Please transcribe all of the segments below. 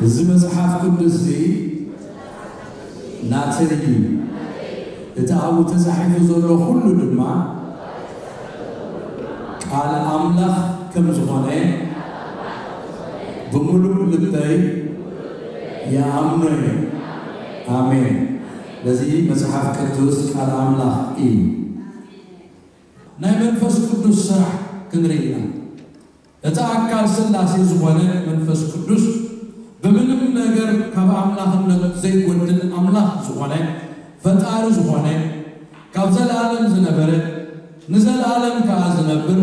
እዚ መጽሓፍ ቅዱስ እዚ ናተይ እዩ። እቲ ኣብኡ ተጻሒፉ ዘሎ ኩሉ ድማ ቃል ኣምላኽ ከም ዝኾነ ብምሉእ ልበይ ይኣምኖ እየ። ኣሜን። ነዚ መጽሓፍ ቅዱስ ቃል ኣምላኽ እዩ። ናይ መንፈስ ቅዱስ ስራሕ ክንርኢ ኢና። እቲ ኣካል ስላሴ ዝኾነ መንፈስ ቅዱስ ብምንም ነገር ካብ ኣምላኽነት ዘይጎድል ኣምላኽ ዝኾነ፣ ፈጣሪ ዝኾነ፣ ካብ ዘለኣለም ዝነበረ፣ ንዘለኣለም ከኣ ዝነብር፣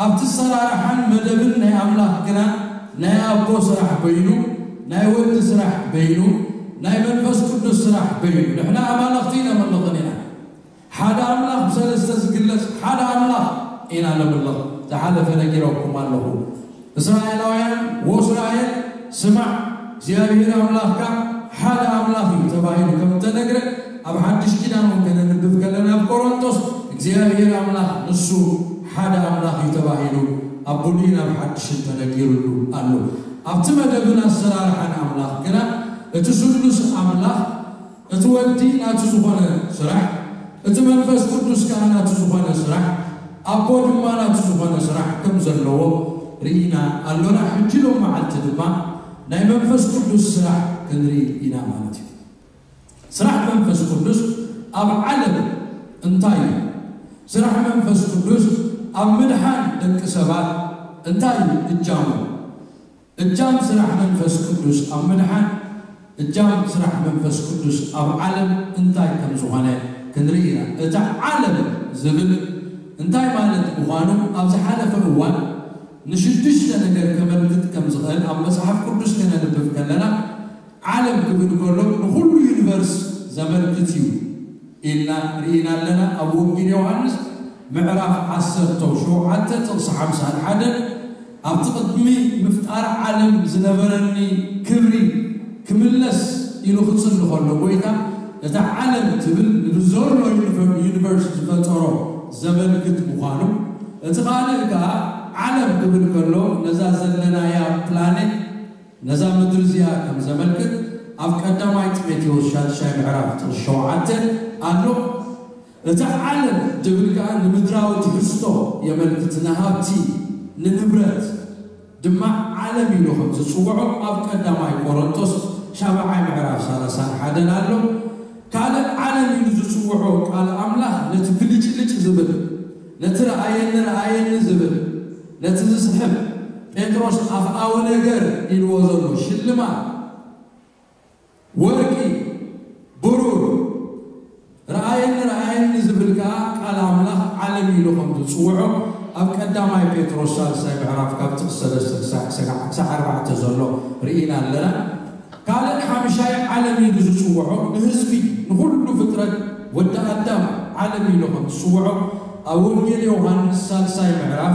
ኣብቲ ሰራርሓን መደብን ናይ ኣምላኽ ግና ናይ ኣቦ ስራሕ በይኑ፣ ናይ ወዲ ስራሕ በይኑ፣ ናይ መንፈስ ቅዱስ ስራሕ በይኑ። ንሕና ኣማልኽቲ ነመልኽን ኢና። ሓደ ኣምላኽ ብሰለስተ ዝግለጽ ሓደ ኣምላኽ ኢና ነምልኽ። ዝሓለፈ ነጊረኩም ኣለኹ። እስራኤላውያን፣ ወእስራኤል ስማዕ፣ እግዚኣብሔር ኣምላኽካ ሓደ ኣምላኽ እዩ ተባሂሉ ከም እተነግረ፣ ኣብ ሓድሽ ኪዳን እውን ከነንብብ ከለና፣ ኣብ ቆሮንቶስ እግዚኣብሔር ኣምላኽ ንሱ ሓደ ኣምላኽ እዩ ተባሂሉ ኣብ ብሉይን ኣብ ሓድሽን ተነጊሩሉ ኣሎ። ኣብቲ መደብን ኣሰራርሓን ኣምላኽ ግና፣ እቲ ስሉስ ኣምላኽ፣ እቲ ወዲ ናቱ ዝኾነ ስራሕ፣ እቲ መንፈስ ቅዱስ ከኣ ናቱ ዝኾነ ስራሕ፣ ኣቦ ድማ ናቱ ዝኾነ ስራሕ ከም ዘለዎ ርኢና ኣሎና። ሕጂ ሎም መዓልቲ ድማ ናይ መንፈስ ቅዱስ ስራሕ ክንርኢ ኢና ማለት እዩ። ስራሕ መንፈስ ቅዱስ ኣብ ዓለም እንታይ እዩ? ስራሕ መንፈስ ቅዱስ ኣብ ምድሓን ደቂ ሰባት እንታይ እዩ እጃሙ? እጃም ስራሕ መንፈስ ቅዱስ ኣብ ምድሓን፣ እጃም ስራሕ መንፈስ ቅዱስ ኣብ ዓለም እንታይ ከም ዝኾነ ክንርኢ ኢና። እቲ ዓለም ዝብል እንታይ ማለት ምዃኑ ኣብ ዝሓለፈ እዋን ንሽዱሽተ ነገር ከመልክት ከም ዝኽእል ኣብ መጽሓፍ ቅዱስ ከነንብብ ከለና፣ ዓለም ክብል ከሎ ንኹሉ ዩኒቨርስ ዘመልክት እዩ ኢልና ርኢና ኣለና። ኣብ ወንጌል ዮሃንስ ምዕራፍ ዓሰርተ ሸውዓተ ጥቕሲ ሓምሳን ሓደን፣ ኣብቲ ቅድሚ ምፍጣር ዓለም ዝነበረኒ ክብሪ ክምለስ ኢሉ ክጽሊ ከሎ፣ ጎይታ፣ እታ ዓለም ትብል ንብዘሎ ዩኒቨ-፣ ዩኒቨርስ ዝፈጠሮ ዘመልክት ምዃኑ፣ እቲ ካልእ ከኣ ዓለም ክብል ከሎ ነዛ ዘለናያ ፕላኔት፣ ነዛ ምድሪ እዚኣ ከም ዘመልክት ኣብ ቀዳማይ ጢሞቴዎስ ሻድሻይ ምዕራፍ ጥቕሲ ሸውዓተ ኣሎ። እቲ ዓለም ዝብል ከኣ ንምድራዊ ትሕዝቶ የመልክት፣ ንሃብቲ፣ ንንብረት ድማ ዓለም ኢሉ ከም ዝጽውዖ ኣብ ቀዳማይ ቆሮንቶስ ሻብዓይ ምዕራፍ ሰላሳን ሓደን ኣሎ። ካልእ ዓለም ኢሉ ዝጽውዖ ቃል ኣምላኽ ነቲ ብልጭልጭ ዝብል፣ ነቲ ረኣየኒ ረኣየኒ ዝብል፣ ነቲ ዝስሕብ፣ ጴጥሮስ ኣፍኣዊ ነገር ኢልዎ ዘሎ ሽልማት፣ ወርቂ፣ ብሩር፣ ረኣየኒ ረኣየኒ ዝብል ከኣ ቃል ኣምላኽ ዓለም ኢሉ ከም ዝጽውዖ ኣብ ቀዳማይ ጴጥሮስ ሳልሳይ ምዕራፍ ካብ ጥቕሲ ሰለስተ ክሳዕ፣ ክሳዕ፣ ክሳዕ ኣርባዕተ ዘሎ ርኢና ኣለና። ካልእ ሓምሻይ ዓለም ኢሉ ዝጽውዖ ንህዝቢ፣ ንኹሉ ፍጥረት፣ ወዲ ኣዳም ዓለም ኢሉ ከም ዝጽውዖ ኣብ ወንጌል ዮሃንስ ሳልሳይ ምዕራፍ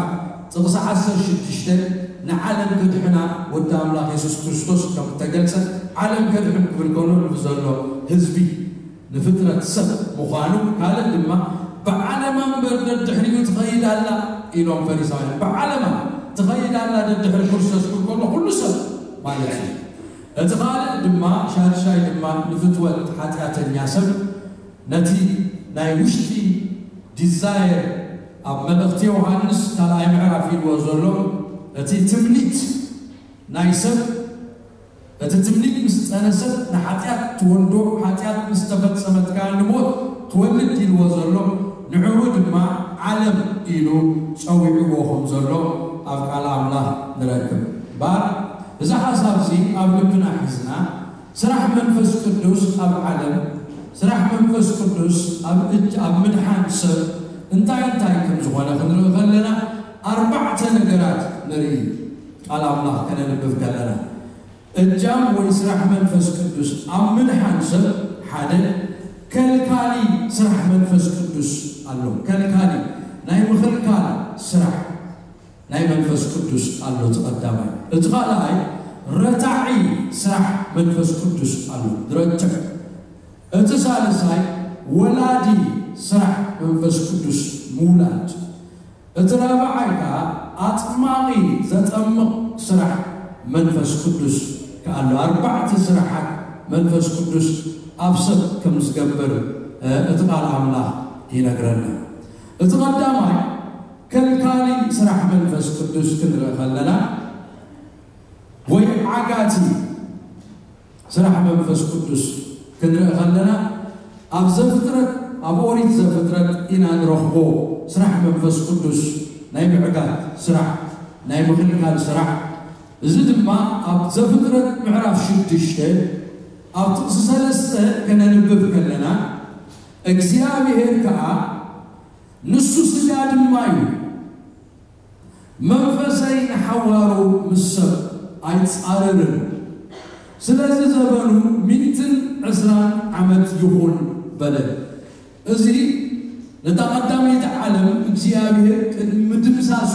ጥቕሲ ዓሰርተ ሽዱሽተ ንዓለም ከድሕና ወዲ ኣምላኽ የሱስ ክርስቶስ ከም እተገልጸ፣ ዓለም ከድሕን ክብል ከሎ ንብዘሎ ህዝቢ፣ ንፍጥረት ሰብ ምዃኑ፣ ካልእ ድማ ብዓለማ እምበር ደድሕሪኡ ትኸይድ ኣላ ኢሎም ፈሪሳውያን። ብዓለማ ትኸይድ ኣላ ደድሕሪ ክርስቶስ ክብል ከሎ ኩሉ ሰብ ማለት እዩ። እቲ ካልእ ድማ፣ ሻድሻይ ድማ ንፍትወት ሓጢኣተኛ ሰብ፣ ነቲ ናይ ውሽጢ ዲዛየር ኣብ መልእኽቲ ዮሃንስ ካልኣይ ምዕራፍ ኢልዎ ዘሎ፣ እቲ ትምኒት ናይ ሰብ፣ እቲ ትምኒት ምስ ጸነሰት ንሓጢኣት ትወልዶ፣ ሓጢኣት ምስ ተፈጸመት ከኣ ንሞት ትወልድ ኢልዎ ዘሎ፣ ንዕኡ ድማ ዓለም ኢሉ ጸዊዕዎ ከም ዘሎ ኣብ ቃል ኣምላኽ ንረክብ። እምበኣር፣ እዚ ሓሳብ እዚ ኣብ ልብና ሒዝና፣ ስራሕ መንፈስ ቅዱስ ኣብ ዓለም፣ ስራሕ መንፈስ ቅዱስ ኣብ እጅ፣ ኣብ ምድሓን ሰብ እንታይ እንታይ ከም ዝኾነ ክንርኢ ከለና፣ ኣርባዕተ ነገራት ንርኢ። ቃል ኣምላኽ ከነንብብ ከለና፣ እጃም ወይ ስራሕ መንፈስ ቅዱስ ኣብ ምድሓን ሰብ ሓደ፣ ከልካሊ ስራሕ መንፈስ ቅዱስ ኣሎ። ከልካሊ ናይ ምኽልካል ስራሕ ናይ መንፈስ ቅዱስ ኣሎ፣ እቲ ቀዳማይ። እቲ ካልኣይ፣ ረታዒ ስራሕ መንፈስ ቅዱስ ኣሎ፣ ዝረትዕ። እቲ ሳልሳይ፣ ወላዲ ስራሕ መንፈስ ቅዱስ፣ ምውላድ። እቲ ራብዓይ ከኣ፣ ኣጥማቒ ዘጠምቕ ስራሕ መንፈስ ቅዱስ ከኣሎ ኣርባዕተ ስራሓት መንፈስ ቅዱስ ኣብ ሰብ ከም ዝገብር እቲ ቃል ኣምላኽ ይነግረና። እቲ ቀዳማይ ከልካሊ ስራሕ መንፈስ ቅዱስ ክንርኢ ከለና ወይ ዓጋቲ ስራሕ መንፈስ ቅዱስ ክንርኢ ከለና ኣብ ዘፍጥረት ኣብ ኦሪት ዘፍጥረት ኢና ንረኽቦ። ስራሕ መንፈስ ቅዱስ ናይ ምዕጋት ስራሕ ናይ ምኽልካል ስራሕ። እዚ ድማ ኣብ ዘፍጥረት ምዕራፍ ሽዱሽተ ኣብ ጥቕሲ ሰለስተ ከነንብብ ከለና እግዚኣብሔር ከዓ ንሱ ስጋ ድማ እዩ፣ መንፈሰይ ንሓዋሩ ምስ ሰብ ኣይጻረርን፣ ስለዚ ዘበኑ ሚእትን ዕስራን ዓመት ይኹን በለ። እዚ ነታ ቀዳመይቲ ዓለም እግዚኣብሔር ቅድሚ ምድምሳሱ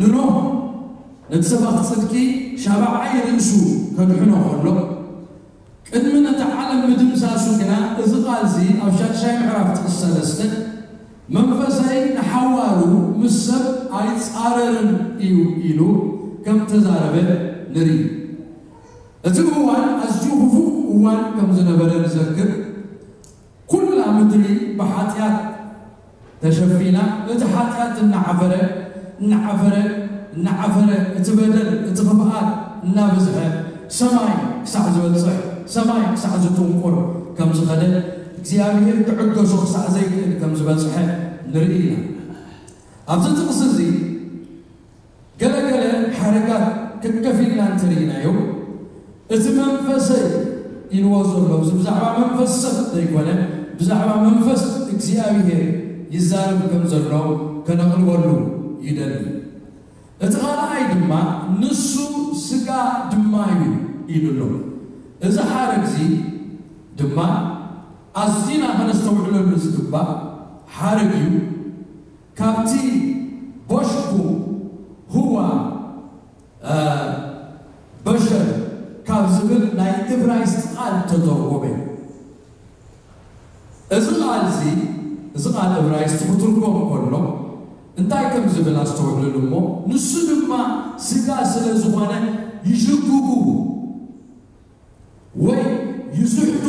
ንኖህ ነቲ ሰባኺ ጽድቂ ሻብዓይ ርእሱ ከድሕኖ ከሎ ቅድሚ ነቲ ዓለም ምድምሳሱ ግና እዚ ቃል እዚ ኣብ ሻድሻይ ምዕራፍ ጥቕሲ ሰለስተ መንፈሰይ ንሓዋሩ ምስ ሰብ ኣይጻረርን እዩ ኢሉ ከም ተዛረበ ንርኢ። እቲ እዋን ኣዝዩ ክፉእ እዋን ከም ዝነበረ ንዘክር። ኩላ ምድሪ ብሓጢኣት ተሸፊና እቲ ሓጢኣት እናዓፈረ እናዓፈረ እናዓፈረ እቲ በደል እቲ ክፍኣት እናበዝሐ ሰማይ ክሳዕ ዝበፅሕ ሰማይ ክሳዕ ዝጥንቁር ከም ዝኸደ እግዚኣብሔር ክዕገሶ ክሳዕ ዘይክእል ከም ዝበፅሐ ንርኢ ኢና። ኣብዚ ጥቕሲ እዚ ገለገለ ሓረጋት ከከፊልና እንተርኢናዮ እቲ መንፈሰይ ኢልዎ ዘሎ እዚ ብዛዕባ መንፈስ ሰብ ዘይኮነ ብዛዕባ መንፈስ እግዚኣብሔር ይዛረብ ከም ዘሎ ከነቕርበሉ ይደሊ። እቲ ካልኣይ ድማ ንሱ ስጋ ድማ እዩ ኢሉ ኣሎ። እዚ ሓረግ እዚ ድማ ኣዝና ከነስተውዕለሉ ዝግባእ ሓረግ እዩ። ካብቲ ቦሽኩ ህዋ በሸር ካብ ዝብል ናይ እብራይስጥ ቃል ተተርጎመ። እዚ ቃል እዚ እዚ ቃል እብራይስጥ ክትርጎም ከሎ እንታይ ከም ዝብል ኣስተውዕልሉ እሞ ንሱ ድማ ስጋ ስለ ዝኾነ ይሽግጉ ወይ ይስሕቱ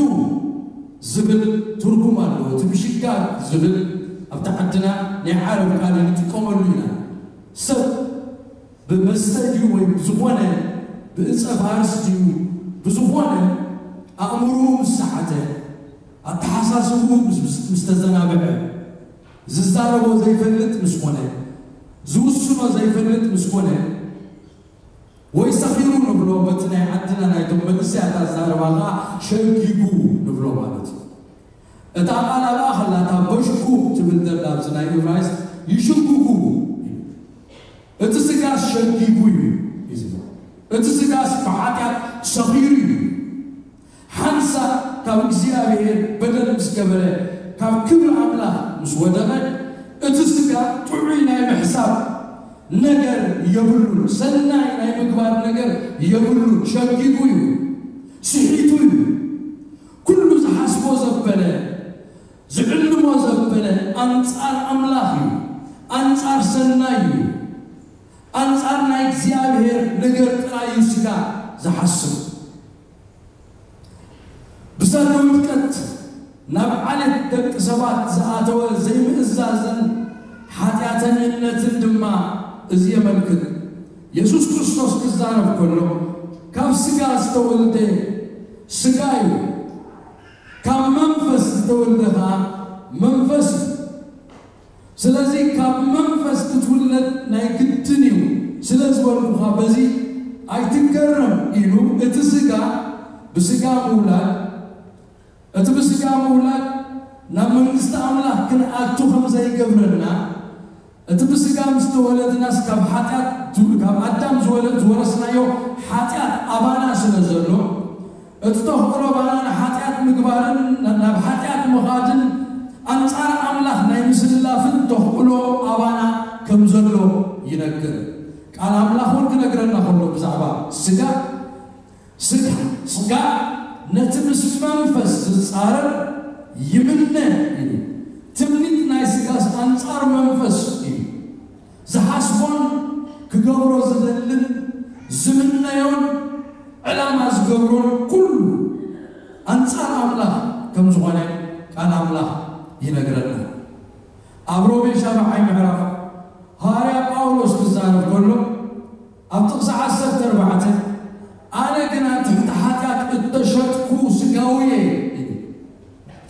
ዝብል ትርጉም ኣለዎ። እቲ ምሽጋግ ዝብል ኣብቲ ዓድና ናይ ዓረብ ቃል ንጥቀመሉ ኢና። ሰብ ብመስተ ድዩ ወይ ብዝኾነ ብእፀ ፋርስ ድዩ ብዝኾነ ኣእምርኡ ምስ ሰሓተ ኣተሓሳስብኡ ምስ ተዘናብዐ ዝዛረቦ ዘይፈልጥ ምስ ኮነ ዝውስኖ ዘይፈልጥ ምስ ኮነ ወይ ሰኺሩ ንብሎ በቲ ናይ ዓድና ናይቶም መንእሰያት ኣዛረባ ከዓ ሸጊጉ ንብሎ ማለት እዩ። እታ ቃል ኣብኣ ከላ እታ በሽኩ ትብል ዘላ ኣብዚ ናይ እብራይስጥ ይሽጉጉ እዩ። እቲ ስጋስ ሸጊጉ እዩ እዩ ዝብል። እቲ ስጋስ ብሓጢኣት ሰኺሩ እዩ። ሓንሳእ ካብ እግዚኣብሔር በደል ምስ ገበረ ካብ ክብሪ ኣምላኽ ምስ ወደቐ እቲ ስጋ ጥዑይ ናይ ምሕሳብ ነገር የብሉን፣ ሰናይ ናይ ምግባር ነገር የብሉን። ሸጊጉ እዩ፣ ስሒቱ እዩ። ኩሉ ዝሓስቦ ዘበለ ዝዕልሞ ዘበለ ኣንጻር ኣምላኽ እዩ፣ ኣንጻር ሰናይ እዩ፣ ኣንጻር ናይ እግዚኣብሔር ነገር ጥራይ እዩ ስጋ ዝሓስብ። ብሰሪ ውድቀት ናብ ዓሌት ደቂ ሰባት ዝኣተወ ዘይምእዛዝን ሓጢኣተኝነትን ድማ እዚ የመልክት። የሱስ ክርስቶስ ክዛረብ ከሎ ካብ ስጋ ዝተወልደ ስጋ እዩ፣ ካብ መንፈስ ዝተወልደ ኸዓ መንፈስ እዩ። ስለዚ ካብ መንፈስ ክትውለድ ናይ ግድን እዩ ስለ ዝበልኩኻ በዚ ኣይትገረም ኢሉ እቲ ስጋ ብስጋ ምውላድ እቲ ብስጋ ምውላድ ናብ መንግስቲ ኣምላኽ ክንኣቱ ከም ዘይገብረና እቲ ብስጋ ምስ ተወለድናስ ካብ ሓጢኣት ካብ ኣዳም ዝወለድ ዝወረስናዮ ሓጢኣት ኣባና ስለ ዘሎ እቲ ተኽእሎ ባና ንሓጢኣት ምግባርን ናብ ሓጢኣት ምኻድን ኣንጻር ኣምላኽ ናይ ምስላፍን ተኽእሎ ኣባና ከም ዘሎ ይነግር። ቃል ኣምላኽ እውን ክነግረና ከሎ ብዛዕባ ስጋ ስጋ ስጋ ነቲ ምስ መንፈስ ዝጻረር ይምነ እዩ። ትምኒት ናይ ስጋስ ኣንጻር መንፈስ እዩ። ዝሓስቦን ክገብሮ ዝደልን ዝምነዮን ዕላማ ዝገብሮን ኩሉ ኣንጻር ኣምላኽ ከም ዝኾነ ቃል ኣምላኽ ይነግረና። ኣብ ሮሜ ሻብዓይ ምዕራፍ ሃዋርያ ጳውሎስ ክዛረብ ከሎ ኣብ ጥቕሲ ዓሰርተ ኣርባዕተ ኣነ ግና ትሕቲ ሓጢኣት እተሸጥኩ ስጋዊ እየ።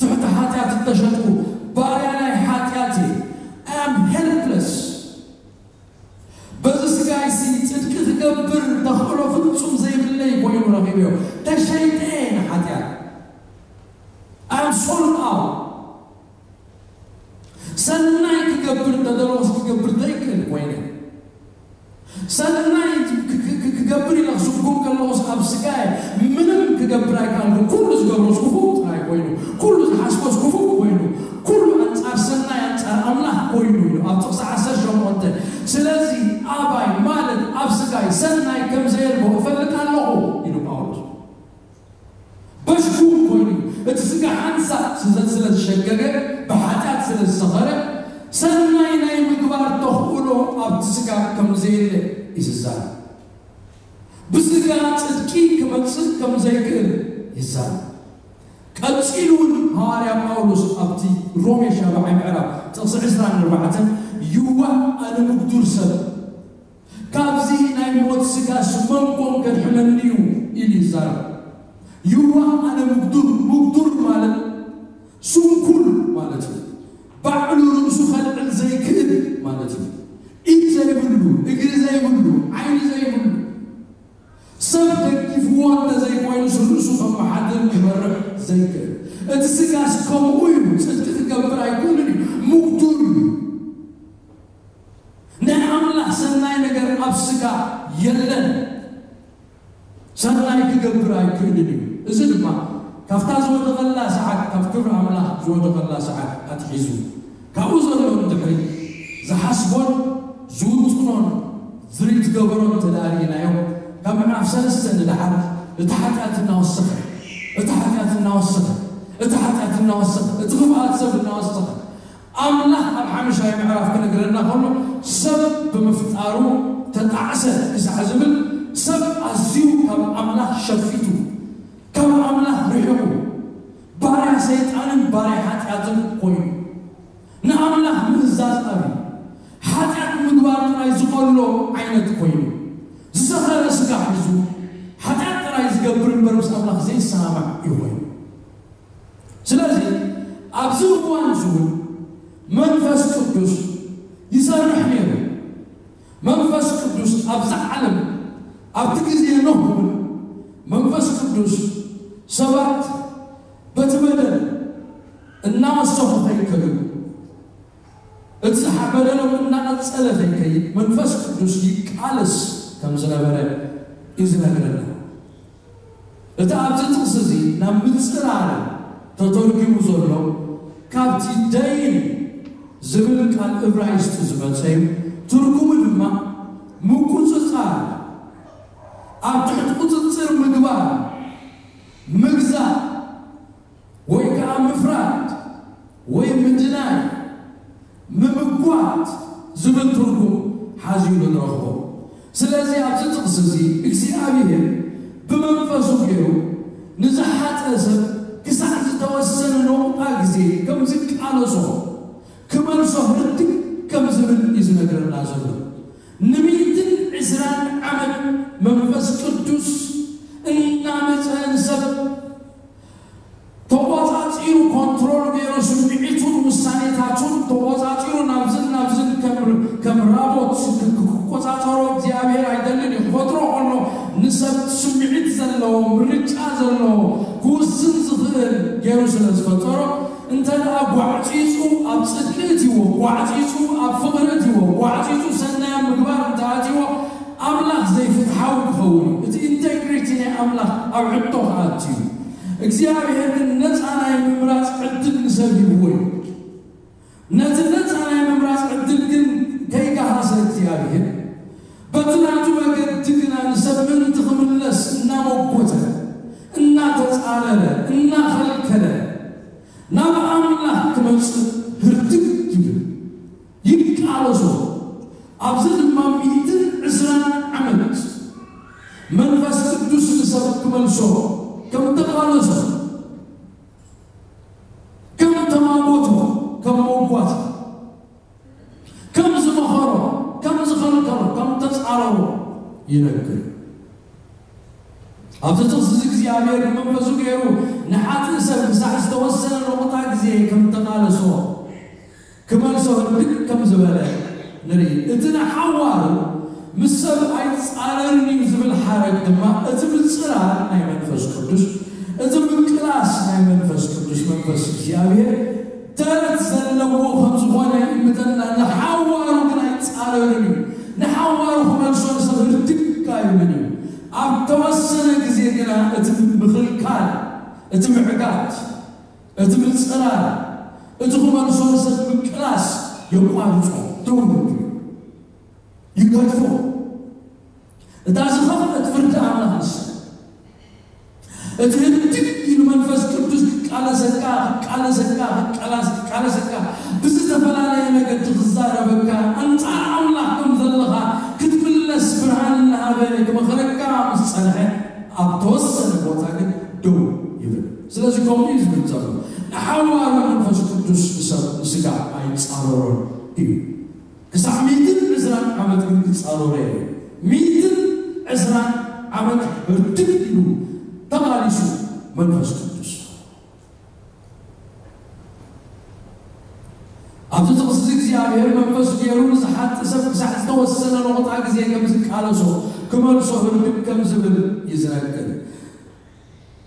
ትሕቲ ሓጢኣት እተሸጥኩ ባርያ ናይ ሓጢኣት እየ። I am helpless። በዚ ስጋይሲ ጽድቂ ክገብር ተኽእሎ ፍጹም ዘይብለይ ኮይኑ ረኺበዮ። ተሸይጠ እየ ንሓጢኣት። I am sold out። ሰናይ ክገብር እንተደለኹስ ክገብር ዘይክእል ኮይነ። ሰናይ ክ- ክ- ክ- ክገብር ኢለ ክስጉም ከለኹስ ኣብ ስጋየ ምንም ክገብር ኣይከኣልኩ። ኩሉ ዝገብሮስ ክፉእ ጥራይ ኮይኑ፣ ኩሉ ዝሓስቦስ ክፉእ ኮይኑ፣ ኩሉ ኣንጻር ሰናይ ኣንጻር ኣምላኽ ኮይኑ እዩ ኣብ ጥቕሲ ዓሰርተ ሸሞንተ። ስለዚ ኣባይ ማለት ኣብ ስጋይ ሰናይ ከም ዘየልቦ እፈልጥ ኣለኹ ኢሉ ጳውሎስ። በሽኩም ኮይኑ እቲ ስጋ ሓንሳእ ስለ ዝሸገገ ብሓጢኣት ስለ ዝሰኸረ ሰናይ ናይ ምግባር ተኽእሎ ኣብቲ ስጋ ከም ዘየለ ይዝዛር። ብስጋ ጽድቂ ክመጽእ ከም ዘይክእል ይዛር። ቀጺሉ እውን ሃዋርያ ጳውሎስ ኣብቲ ሮሜ ሻብዓይ ምዕራፍ ጥቕሲ ዕስራን ኣርባዕተን ይዋእ ኣነ ምጉዱር ሰብ ካብዚ ናይ ሞት ስጋስ መንኮን ከድሕነኒ እዩ ኢሉ ይዛረብ። ይዋ ኣነ ምጉዱር፣ ምጉዱር ማለት ስንኩል ማለት እዩ። ባዕሉ ርእሱ ከልዕል ዘይክእል ማለት እዩ። ኢድ ዘይብሉ፣ እግሪ ዘይብሉ፣ ዓይኒ ዘይብሉ፣ ሰብ ደጊፍዎ እንተዘይኮይኑስ ርእሱ ከመሓድር ክመርሕ ዘይክእል። እቲ ስጋስ ከምኡ እዩ። ጽድቂ ክገብር ኣይክእልን እዩ። ምጉዱር እዩ። ናይ ኣምላኽ ሰናይ ነገር ኣብ ስጋ የለን። ሰናይ ክገብር ኣይክእልን እዩ። እዚ ድማ ካብታ ዝወደቐላ ሰዓት፣ ካብ ክብሪ ኣምላኽ ዝወደቐላ ሰዓት ኣትሒዙ ካብኡ ዘሎ ንድሕሪ ዝሓስቦን ዝውጥኖን ዝሪት ገበሮ እንተ ደኣ ርኢናዮ፣ ካብ ምዕራፍ ሰለስተ ንደሓር እቲ ሓጢኣት እናወሰኸ፣ እቲ ሓጢኣት እናወሰኸ፣ እቲ ሓጢኣት እናወሰኸ፣ እቲ ክፍኣት ሰብ እናወሰኸ ኣምላኽ ኣብ ሓምሻይ ምዕራፍ ክነግረና ከሎ ሰብ ብምፍጣሩ ተጣዕሰ ክሳዕ ዝብል ሰብ ኣዝዩ ካብ ኣምላኽ ሸፊቱ ካብ ኣምላኽ ርሒቑ ባርያ ሰይጣንን ባርያ ሓጢኣትን ኮይኑ ንኣምላኽ ምእዛዝ ኣብዩ ሓጢኣት ምግባር ጥራይ ዝቐሎ ዓይነት ኮይኑ ዝሰኸረ ስጋ ሒዙ ሓጢኣት ጥራይ ዝገብር እምበር ምስ ኣምላኽ ዘይሰማማዕ እዩ ኮይኑ ስለዚ ኣብዚ እዋን እዚ እውን መንፈስ ቅዱስ ይሰርሕ ነይሩ። መንፈስ ቅዱስ ኣብዚ ዓለም ኣብቲ ግዜ ኖህ እውን መንፈስ ቅዱስ ሰባት በቲ በደል እናወሰኹ ከይከዱ እቲ በደሎም እናቐጸለ ከይከይድ መንፈስ ቅዱስ ይቃለስ ከም ዝነበረ እዩ ዝነግረና። እቲ ኣብዚ ጥቕሲ እዚ ናብ ምጽራር ተተርጒሙ ዘሎ ካብቲ ደይን ዝብል ቃል እብራይስጢ ዝመጸ እዩ። ትርጉሙ ድማ ምቁጽጻር፣ ኣብ ትሕቲ ቁጽጽር ምግባር፣ ምግዛእ ወይ ከኣ ምፍራድ ወይ ምድናይ፣ ምምጓት ዝብል ትርጉም ሓዚሉ ንረኽቦ። ስለዚ ኣብዚ ጥቕሲ እዚ እግዚኣብሔር ብመንፈሱ ገይሩ ንዝሓጠ ሰብ ክሳዕ ዝተወሰነ ነቑጣ ግዜ ከም ዝቃለሶ ክመልሶ ህርድግ ከም ዝብል እዩ ዝነግረና ዘሎ። ንሚእትን ዕስራን ዓመት መንፈስ ቅዱስ እናመፀ ንሰብ ተቆጻጺሩ ኮንትሮል ገይሩ ስምዒቱን ውሳኔታቱን ተቆጻጺሩ ናብዝን ናብዝን ከም ከም ራቦት ክቆጻጸሮ እግዚኣብሔር ኣይደልን እዩ። ክፈጥሮ ከሎ ንሰብ ስምዒት ዘለዎ ምርጫ ዘለዎ ክውስን ዝኽእል ገይሩ ስለ ዝፈጠሮ እንተ ደኣ ጓዕጺጹ ኣብ ጽድቂ እትዎ ጓዕጺጹ ኣብ ፍቕሪ እትዎ ጓዕጺጹ ሰናይ ኣብ ምግባር እንተ ኣትዎ ኣምላኽ ዘይፍትሓዊ ክኸውን እዩ። እቲ ኢንቴግሪቲ ናይ ኣምላኽ ኣብ ሕቶ ክኣቱ እዩ። እግዚኣብሔር ግን ነፃ ናይ ምምራፅ ዕድል ንሰብ ሂብዎ እዩ። ነቲ ነፃ ናይ ምምራፅ ዕድል ግን ከይገሃሰ እግዚኣብሔር በቲ ናቱ መገዲ ግና ንሰብ ምእንቲ ክምለስ እናመጎተ እናተፃረረ እናኸልከለ ናብ ኣምላኽ ክመፅእ ህርድግ ይብል። ይቃለሶ ኣብዚ ድማ ሚእትን ዕስራን ዓመት መንፈስ ቅዱስ ንሰብ ከም ተቓለሶ፣ ከም ተማጎቶ፣ ከም መጓት፣ ከም ዝመኸሮ፣ ከም ዝኸልከሎ፣ ከም ተጻረሮ ይነግር። ኣብዚ ጥቕሲ እዚ እግዚኣብሔር ብመንፈሱ ገይሩ ንሓጥእ ሰብ ክሳዕ ዝተወሰነ ነቑጣ ግዜ ከም ተቓለሶ፣ ክመልሶ ህርድግ ከም ዝበለ ንርኢ። እቲ ንሓዋሩ ምስ ሰብ ኣይጻረርን እዩ ዝብል ሓረግ ድማ እቲ ምጽራር ናይ መንፈስ ቅዱስ፣ እቲ ምቅላስ ናይ መንፈስ ቅዱስ፣ መንፈስ እግዚኣብሔር ተረት ዘለዎ ከም ዝኾነ ይምተና። ንሓዋሩ ግን ኣይጻረርን እዩ። ንሓዋሩ ክመልሶ ንሰብ ህርድግ ኣይብልን እዩ። ኣብ ተወሰነ ግዜ ግና እቲ ምኽልካል፣ እቲ ምዕጋት፣ እቲ ምጽራር፣ እቲ ክመልሶ ንሰብ ምቅላስ የቋርጾ፣ ደው ይብል፣ ይገድፎ። እታ ዝኸፍአት ፍርዲ ኣምላኽ ንሳ። እቲ ህድግ ኢሉ መንፈስ ቅዱስ ክቃለሰካ፣ ክቃለሰካ፣ ክቃላስ-፣ ክቃለሰካ፣ ብዝተፈላለየ መገዲ ክዛረበካ፣ ኣንጻር ኣምላኽ ከም ዘለኻ ክትምለስ ብርሃን እናሃበ ክመኽረካ ምስ ጸንሐ፣ ኣብ ተወሰነ ቦታ ግን ደው ይብል። ስለዚ ከምኡ እዩ ዝብል ዘሎ። ንሓዋሩ መንፈስ ቅዱስ ንሰብ ንስጋ ኣይጻረሮን እዩ። ክሳዕ ሚእትን ዕስራን ዓመት ግን ክጻረሮ እዩ። ሚእትን ዕስራን ዓመት ህርድግ ኢሉ ተቓሊሱ መንፈስ ቅዱስ። ኣብዚ ጥቕሲ እዚ እግዚኣብሔር መንፈስ ገይሩ ንዝሓጥእ ሰብ ክሳዕ ዝተወሰነ ነቑጣ ግዜ ከም ዝቃለሶ፣ ክመልሶ ህርድግ ከም ዝብል እዩ ዝነግር።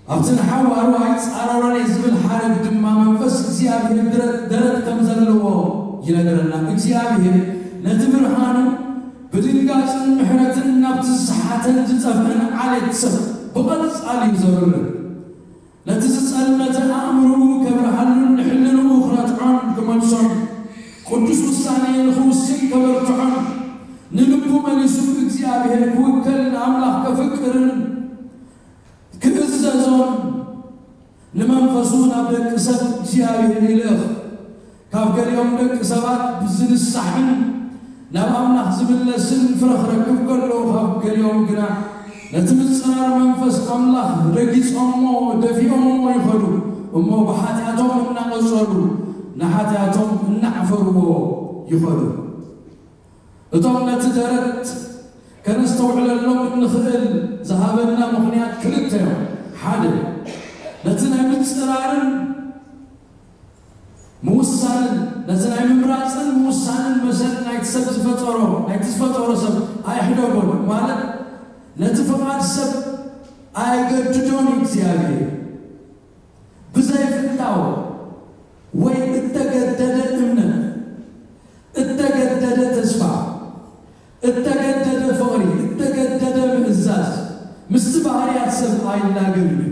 ኣብቲ ንሓዋሩ ኣይጻረሮን እየ ዝብል ሓረግ ድማ መንፈስ እግዚኣብሔር ድረ-፣ ደረት ከም ዘለዎ ይነግረና። እግዚኣብሔር ነቲ ብርሃኑ ብድንጋጽን ምሕረትን ናብቲ ዝሰሓተን ዝጠፍአን ዓሌት ሰብ ብቐጻሊ እዩ ዘብርህ። ነቲ ዝጸልመተ ኣእምሮኡ ከብርሃሉን ንሕልንኡ ክረትዖን ክመልሶን፣ ቅዱስ ውሳኔ ንኽውስን ከበርትዖን፣ ንልቡ መሊሱ ብእግዚኣብሔር ክውከል ንኣምላኽ ከፍቅርን ክእዘዞን ንመንፈሱ ናብ ደቂ ሰብ እግዚኣብሔር ይልእኽ። ካብ ገሊኦም ደቂ ሰባት ብዝንሳሕን ናብ ኣምላኽ ዝምለስን ፍረ ክረክብ ከሎ፣ ካብ ገሊኦም ግና ነቲ ምጽራር መንፈስ ኣምላኽ ረጊጾሞ፣ ደፊኦሞ ይኸዱ። እሞ ብሓጢኣቶም እናቐጸሉ፣ ንሓጢኣቶም እናዕፈርዎ ይኸዱ። እቶም ነቲ ደረት ከነስተውዕለሎም እንኽእል ዝሃበና ምኽንያት ክልተ እዮም። ሓደ፣ ነቲ ናይ ምጽራርን ምውሳንን፣ ነቲ ናይ ምምራጽን ምውሳንን መሰል ናይቲ ሰብ ዝፈጠሮ፣ ናይቲ ዝፈጠሮ ሰብ ኣይሕደጎን፣ ማለት ነቲ ፍቓድ ሰብ ኣይገድዶን እዩ እግዚኣብሔር። ብዘይፍታው ወይ እተገደደ እምነት፣ እተገደደ ተስፋ፣ እተገደደ ፍቕሪ፣ እተገደደ ምእዛዝ ምስቲ ባህርያት ሰብ ኣይላገብን እዩ።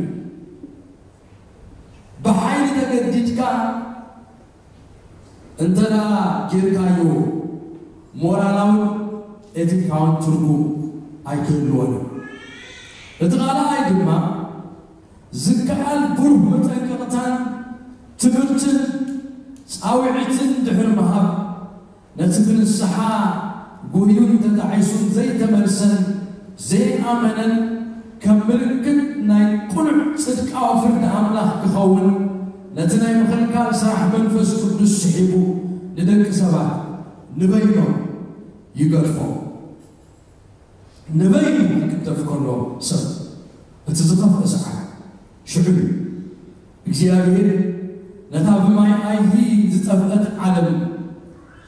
ብሓይሊ ተገዲድካ እንተ ደኣ ጌርካዮ፣ ሞራላውን ኤቲካውን ትርጉም ኣይክህልዎን እዩ። እቲ ካልኣይ ድማ፣ ዝከኣል ብሩህ መጠንቀቕታን ትምህርትን ጻውዒትን ድሕሪ ምሃብ፣ ነቲ ብንስሓ ጉህዩን ተጣዒሱን ዘይተመልሰን ዘይኣመነን ከም ምልክት ናይ ቅኑዕ ጽድቃዊ ፍርዲ ኣምላኽ ክኸውን፣ ነቲ ናይ ምኽልካል ስራሕ መንፈስ ቅዱስ ስሒቡ ንደቂ ሰባት ንበይኖም ይገድፎም። ንበይኑ ክግደፍ ከሎ ሰብ እቲ ዝኸፍአ ሰዓት ሽዑ እዩ። እግዚኣብሔር ነታ ብማይ ኣይሂ ዝጠፍአት ዓለም፣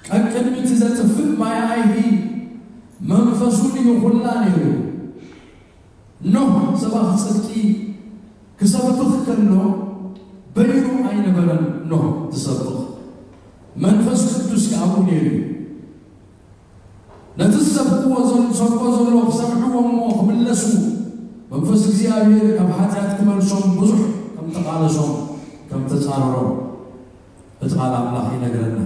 ቀቅድሚ እቲ ዘጥፍእ ማይ ኣይሂ መንፈሱ ልኢኹላ ነይሩ። ኖህ ሰባኺ ጽድቂ ክሰብኽ ከሎ በይኑ ኣይነበረን ኖህ ዝሰብኽ፣ መንፈስ ቅዱስ ከኣ ኣብኡ ነይሩ እዩ። ነቲ ዝሰብክዎ ዘል-፣ ዝሰብኮ ዘሎ ክሰምዕዎ እሞ ክምለሱ፣ መንፈስ እግዚኣብሔር ካብ ሓጢኣት ክመልሶም ብዙሕ ከም ተቓለሶም፣ ከም ተጻረሮም እቲ ቃል ኣምላኽ ይነግረና።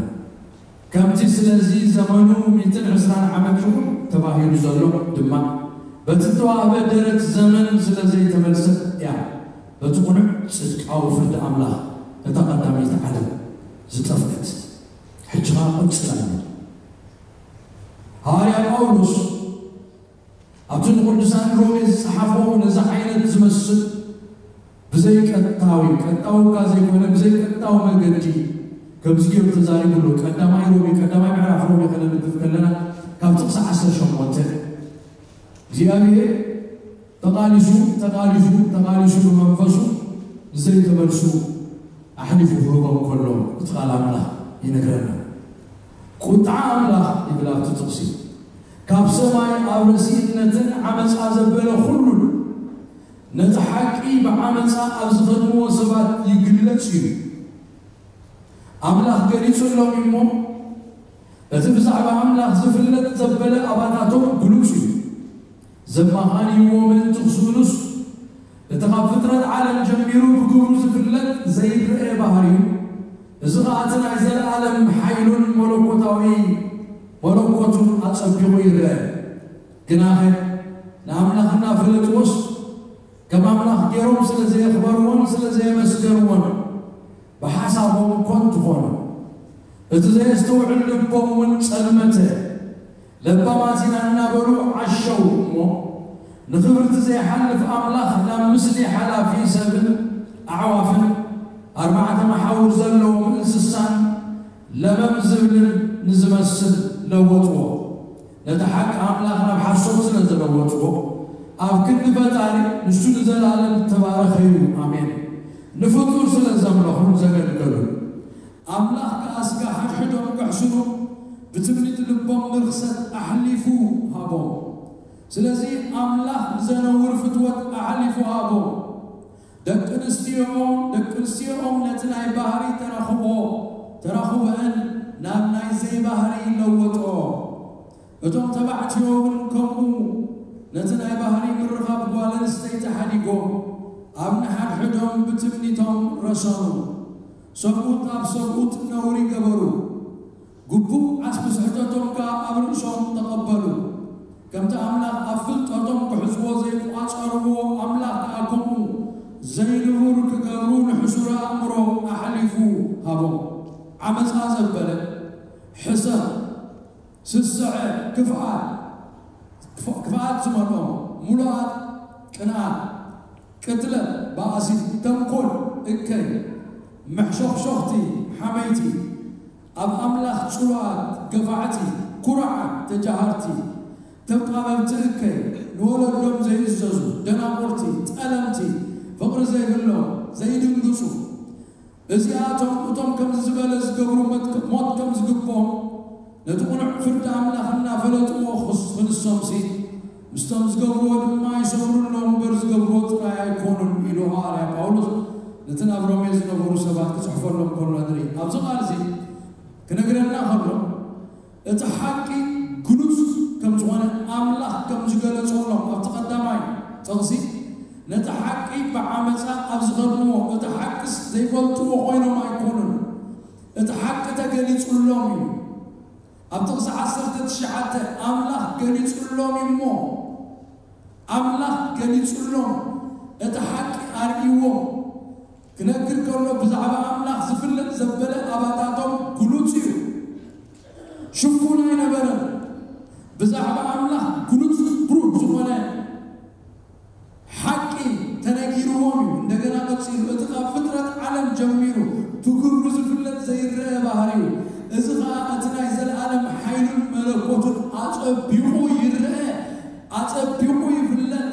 ከምቲ ስለዚ ዘመኑ ሚእትን ዕስራን ዓመት ይኹን ተባሂሉ ዘሎ ድማ፣ በቲ እተዋህበ ደረት ዘመን ስለ ዘይተመልሰት እያ በቲ ቅኑዕ ጽድቃዊ ፍርዲ ኣምላኽ እታ ቀዳመይቲ ዓለም ዝጠፍአት። ሕጂ ኸኣ ቅጽል ኣሎ። ሃዋርያ ጳውሎስ ኣብቲ ንቅዱሳን ሮሜ ዝጸሓፎ ነዚ ዓይነት ዝመስል ብዘይቀጥታዊ ቀጥታዊ እኳ ዘይኮነ ብዘይቀጥታዊ መገዲ ከምዚ ገይሩ ተዛሪቡ ኣሎ። ቀዳማይ ሮሜ ቀዳማይ ምዕራፍ ሮሜ ከነንብብ ከለና ካብ ጥቕሲ ዓሰርተ ሸሞንተ እግዚኣብሔር ተቓሊሱ ተቓሊሱ ተቓሊሱ ብመንፈሱ ንዘይተመልሱ ኣሕሊፉ ክህቦም ከሎ እቲ ቃል ኣምላኽ ይነግረና። ቁጥዓ ኣምላኽ ይብል ኣብቲ ጥቕሲ ካብ ሰማይ ኣብ ረሲእነትን ዓመፃ ዘበለ ኩሉን ነቲ ሓቂ ብዓመፃ ኣብ ዝኸድምዎ ሰባት ይግለጽ እዩ። ኣምላኽ ገሊጹሎም እሞ እቲ ብዛዕባ ኣምላኽ ዝፍለጥ ዘበለ ኣባታቶም ግሉጽ እዩ። ዘማኻንይዎ ምእንቲ ክስእኑስ እቲ ካብ ፍጥረት ዓለም ጀሚሩ ብግብሩ ዝፍለጥ ዘይረአ ባህርዩ፣ እዚ ኸኣ እቲ ናይ ዘለኣለም ሓይሉን መለኮታዊ መለኮቱን ኣጸቢቑ ይረአ። ግናኸ ንኣምላኽ እናፈለጥዎስ ከም ኣምላኽ ገይሮም ስለ ዘየኽበርዎን ስለ ዘየመስገንዎን ብሓሳቦም ኮንቱ ኾኑ። እቲ ዘየስተውዕል ልቦም እውን ጸልመተ። ለባማት ኢና እናበሉ ዓሸው እሞ ንኽብርቲ ዘይሓልፍ ኣምላኽ ናብ ምስሊ ሓላፊ ሰብን ኣዕዋፍን ኣርባዕተ መሓውር ዘለዎም እንስሳን ለመም ዝብልን ንዝመስል ለወጥዎ። ነቲ ሓቂ ኣምላኽ ናብ ሓሶት ስለ ዝለወጥዎ ኣብ ክንዲ ፈጣሪ ንሱ ንዘለኣለም ዝተባረኸ እዩ። ኣሜን። ንፍጡር ስለ ዘምለኹን ዘገልገሉን ኣምላኽ ከኣ ስጋ ሓድሕዶም ከሕስኑ ብትምኒት ልቦም ንርኽሰት ኣሕሊፉ ሃቦም። ስለዚ ኣምላኽ ንዘነውር ፍትወት ኣሕሊፉ ሃቦም። ደቂ ኣንስትዮኦም ደቂ ኣንስትዮኦም ነቲ ናይ ባህሪ ተራኽቦ ተራኽቦአን ናብ ናይ ዘይባህሪ ለወጦ። እቶም ተባዕትዮ እውን ከምኡ ነቲ ናይ ባህሪ ምርኻብ ጓል ኣንስተይቲ ሓዲጎም ኣብ ንሓድሕዶም ብትምኒቶም ረሰኑ። ሰብኡት ኣብ ሰብኡት ነውሪ ገበሩ። ግቡእ ዓስቢ ስሕተቶም ከኣ ኣብ ርእሶም ተቐበሉ። ከምቲ ኣምላኽ ኣብ ፍልጠቶም ክሕዝዎ ዘይቋጸርዎ ኣምላኽ ከኣ ከምኡ ዘይንቡር ክገብሩ ንሕሱር ኣእምሮ ኣሕሊፉ ሃቦም። ዓመጻ ዘበለ፣ ሕሰም፣ ስስዐ፣ ክፍኣት፣ ክፍ- ክፍኣት ዝመልኦ፣ ምሉኣት፣ ቅንኣት፣ ቅትለት፣ ባእሲ፣ ተንኮል፣ እከይ፣ መሕሾኽሾኽቲ፣ ሓመይቲ፣ ኣብ ኣምላኽ ጽሉኣት፣ ገፋዕቲ፣ ኩሩዓት፣ ተጃሃርቲ፣ ተጣበብቲ፣ እከይ፣ ንወለዶም ዘይእዘዙ፣ ደናቁርቲ፣ ጠለምቲ፣ ፍቕሪ ዘይብሎም፣ ዘይድንግጹ፣ እዚኣቶም እቶም ከምዚ ዝበለ ዝገብሩ መት- ሞት ከም ዝግብኦም ነቲ ቅኑዕ ፍርዲ ኣምላኽ እናፈለጥዎ ክስ- ክንሶምሲ ምስቶም ዝገብርዎ ድማ ይሰምሩ ኣለዉ እምበር ዝገብርዎ ጥራይ ኣይኮኑን ኢሉ ሃዋርያ ጳውሎስ ነቲ ናብ ሮሜ ዝነበሩ ሰባት ክጽሕፈሎም ከሎ ንርኢ። ኣብዚ ቃል እዚ ክነግረና ከሎ እቲ ሓቂ ግሉጽ ከም ዝኾነ ኣምላኽ ከም ዝገለጸሎም ኣብቲ ቀዳማይ ጥቕሲ ነቲ ሓቂ ብዓመጻ ኣብ ዝኸድንዎ እቲ ሓቅስ ዘይፈልጥዎ ኮይኖም ኣይኮኑን። እቲ ሓቂ ተገሊጹሎም እዩ። ኣብ ጥቕሲ ዓሰርተ ትሽዓተ ኣምላኽ ገሊጹሎም እዩ እሞ ኣምላኽ ገሊጹሎም እቲ ሓቂ ኣርእይዎም ክነግር ከሎ ብዛዕባ ኣምላኽ ዝፍለጥ ዘበለ ኣባታቶም ግሉጽ እዩ። ሽፉን ኣይነበረን። ብዛዕባ ኣምላኽ ግሉጽ ብሩህ ዝኾነ ሓቂ ተነጊርዎም እዩ። እንደገና ቀጺሉ እቲ ካብ ፍጥረት ዓለም ጀሚሩ ብግብሩ ዝፍለጥ ዘይረአ ባህሪ እዩ። እዚ ኸኣ እቲ ናይ ዘለኣለም ሓይሉን መለኮቱን ኣጸቢቑ ይረአ፣ ኣጸቢቑ ይፍለጥ፣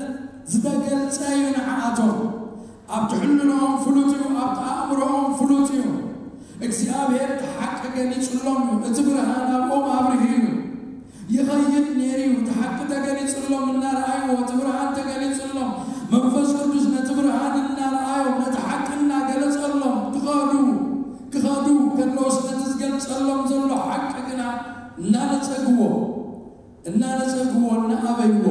ዝተገልጸ እዩ ንዓኣቶም። ኣብቲ ሕልናኦም ፍሉጥ እዩ፣ ኣብቲ ኣእምሮኦም ፍሉጥ እዩ። እግዚኣብሔር እቲ ሓቂ ገሊጹሎም እዩ። እቲ ብርሃን ኣብኦም ኣብርሂ እዩ። ይኸይድ ነይሩ እዩ። እቲ ሓቂ ተገሊጹሎም እናረኣይዎ፣ እቲ ብርሃን ተገሊጹሎም፣ መንፈስ ቅዱስ ነቲ ብርሃን እናረኣዮም፣ ነቲ ሓቂ እናገለጸሎም ክኸዱ ክኸዱ ከለውስ ነቲ ዝገልጸሎም ዘሎ ሓቂ ግና እናነጸግዎ እናነጸግዎ እናኣበይዎ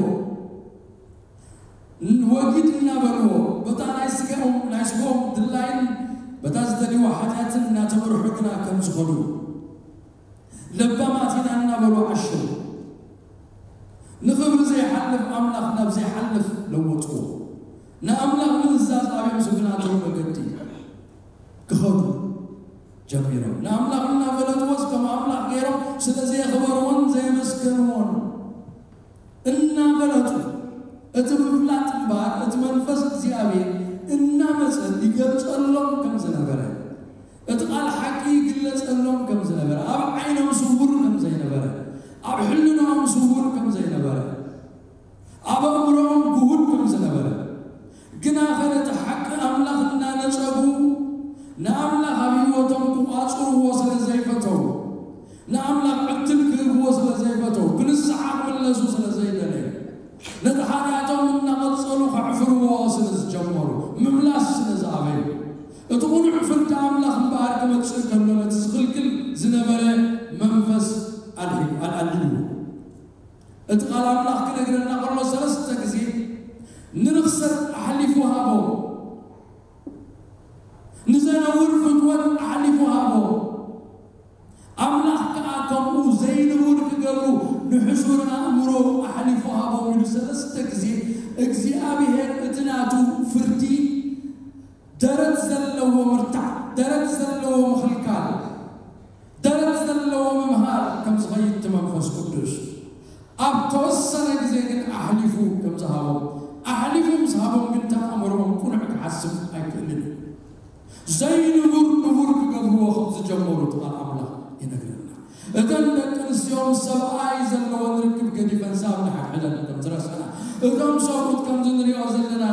ወጊድ እናበልዎ በታ ናይ ስጋኦም ናይ ስጋኦም ድላይን በታ ዝደልይዋ ሓጢኣትን እናተመርሑ ግና ከም ዝኸዱ ለባማት ኢና እናበሉ ዓሸው። ንኽብሪ ዘይሓልፍ ኣምላኽ ናብ ዘይሓልፍ ለወጥዎ። ንኣምላኽ ምእዛዝ ኣብዮም ዝብናተው መገዲ ክኸዱ ጀሚሮም። ንኣምላኽ እናፈለጥዎስ ከም ኣምላኽ ገይሮም ስለ ዘየኽበርዎን ዘየመስገንዎን እናፈለጡ እቲ ምፍላጥ እምበኣር እቲ መንፈስ እግዚኣብሔር እናመፀ ኣምላኽ እምበኣር ክመጽእ ከሎ ነቲ ዝኽልክል ዝነበረ መንፈስ ኣልሂ-፣ ኣል-፣ ኣልሂብዎ። እቲ ቃል ኣምላኽ ክነግረና ከሎ ሰለስተ ግዜ ንርኽሰት ኣሕሊፉ ሃቦ፣ ንዘነውር ፍትወት ኣሕሊፉ ሃቦ። ኣምላኽ ከኣ ከምኡ ዘይንቡር ክገብሩ ንሕሱር ኣእምሮ ኣሕሊፉ ሃቦም ኢሉ ሰለስተ ግዜ እግዚኣብሔር እቲ ናቱ ፍርዲ ደረት ዘለዎ ምርታዕ፣ ደረት ዘለዎ ምኽልካል፣ ደረት ዘለዎ ምምሃር ከም ዝኸይድ እቲ መንፈስ ቅዱስ ኣብ ተወሰነ ግዜ ግን ኣሕሊፉ ከም ዝሃቦም፣ ኣሕሊፉ ምስ ሃቦም ግን እቲ ኣእምሮኦም ቅኑዕ ክሓስብ ኣይክእልን እዩ። ዘይንቡር ንቡር ክገብርዎ ከም ዝጀመሩ እቲ ቃል ኣምላኽ ይነግረና። እተን ደቂ ኣንስትዮ ምስ ሰብኣይ ዘለወን ርክብ ገዲፈን ሳብ ንሓድሕደን ከም ዝረስዐና፣ እቶም ሰብኡት ከምዚ ንሪኦ ዘለና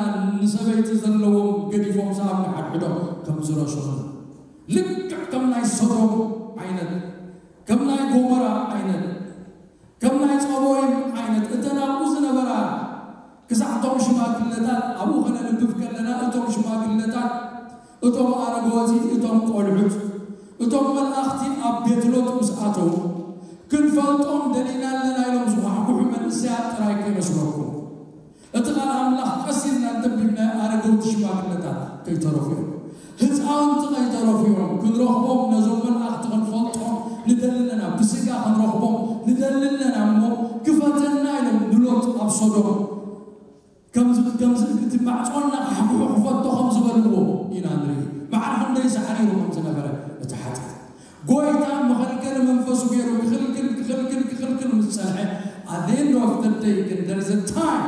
ንሰበይቲ ዘለዎም ገዲፎም ሳብ ንሓድሕዶም ከም ዝረስዑ፣ ልክዕ ከም ናይ ሶዶም ዓይነት፣ ከም ናይ ጎሞራ ዓይነት፣ ከም ናይ ጸቦይም ዓይነት፣ እተን ኣብኡ ዝነበራ ክሳዕ እቶም ሽማግለታት ኣብኡ ከነንብብ ከለና፣ እቶም ሽማግለታት፣ እቶም ኣረገወቲ፣ እቶም ቆልዑት፣ እቶም መላእኽቲ ኣብ ቤት ሎጥ ምስ ኣተዉ፣ ክንፈልጦም ደሊና ኣለና ኢሎም ዝኳሕኩሑ መንእሰያት ጥራይ ከይመስለኩም። እቲ ቃል ኣምላኽ ቀስ ኢልና እንተንቢብናዮ ኣረገውቲ ሽማግለታት ከይተረፉ እዮም። ህፃውንቲ ከይተረፉ እዮም። ክንረኽቦም ነዞም መላእኽቲ ክንፈልጦም ንደሊ ኣለና፣ ብስጋ ክንረኽቦም ንደሊ ኣለና እሞ ክፈተና ኢሎም ንሎጥ ኣብ ሶዶም ከምዚ፣ ከምዚ እቲ ማዕጾ እናሓሕኩሑ ክፈቶ ከም ዝበልዎ ኢና ንርኢ። ማዕረ ክንደይ ሳዕሪሩ ከም ዝነበረ እቲ ሓጢኣት። ጎይታ መኸልከሊ መንፈሱ ገይሩ ክኽልክል፣ ክኽልክል፣ ክኽልክል ምስ ጸንሐ፣ at the end of the day ግን there is a time፣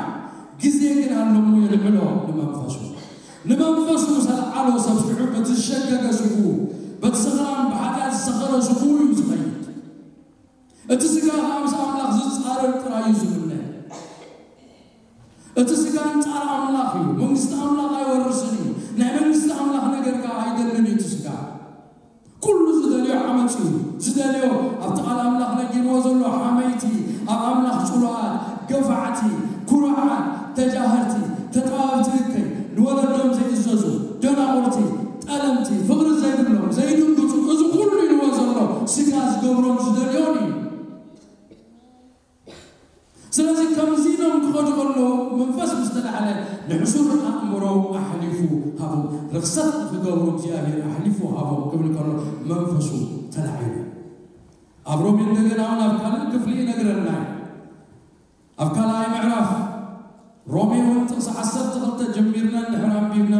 ግዜ ግን ኣሎ እሞ የልዕሎ ንመንፈሱ። ንመንፈሱ ምስ ኣልዓሎ ሰብ ሽዑ በቲ ዝሸገገ ስግኡ፣ በቲ ሰኽራን ብሓጢኣት ዝሰኸረ ስግኡ እዩ ዝኸይድ። እቲ ስጋ ከኣ ምስ ኣምላኽ ዝጻረር ጥራይ እዩ ዝምነ። እቲ ስጋ ኣንጻር ኣምላኽ እዩ። መንግስቲ ኣምላኽ ኣይወርስን እዩ። ናይ መንግስቲ ኣምላኽ ነገር ከኣ ኣይደልን እዩ እቲ ስጋ። ኩሉ ዝደልዮ ዓመጽ እዩ። ዝደልዮ ኣብቲ ቃል ኣምላኽ ነጊርዎ ዘሎ ሓመይቲ፣ ኣብ ኣምላኽ ጽሉኣት፣ ገፋዕቲ፣ ኩሩዓት፣ ተጃህርቲ፣ ተጣበብቲ እከይ፣ ንወለዶም ዘይእዘዙ፣ ደናቑርቲ፣ ጠለምቲ፣ ፍቕሪ ዘይብሎም፣ ዘይድንግጹ፣ እዚ ኩሉ ኢልዎ ዘሎ ስጋ ዝገብሮን ዝደልዮን እዩ። ስለዚ ከምዚ ኢሎም ክኸዱ ከለዉ መንፈስ ምስ ተላዕለ ንሕሱር ኣእምሮ ኣሕሊፉ ሃቦም። ርኽሰት ንኽገብሩ እግዚኣብሔር ኣሕሊፉ ሃቦም ክብል ከሎ መንፈሱ ተላዒሉ። ኣብ ሮሜ እንደገና እውን ኣብ ካልእ ክፍሊ ይነግረና እዩ። ኣብ ካልኣይ ምዕራፍ ሮሜ እውን ጥቕሲ ዓሰርተ ክልተ ጀሚርና እንድሕር ኣንቢብና፣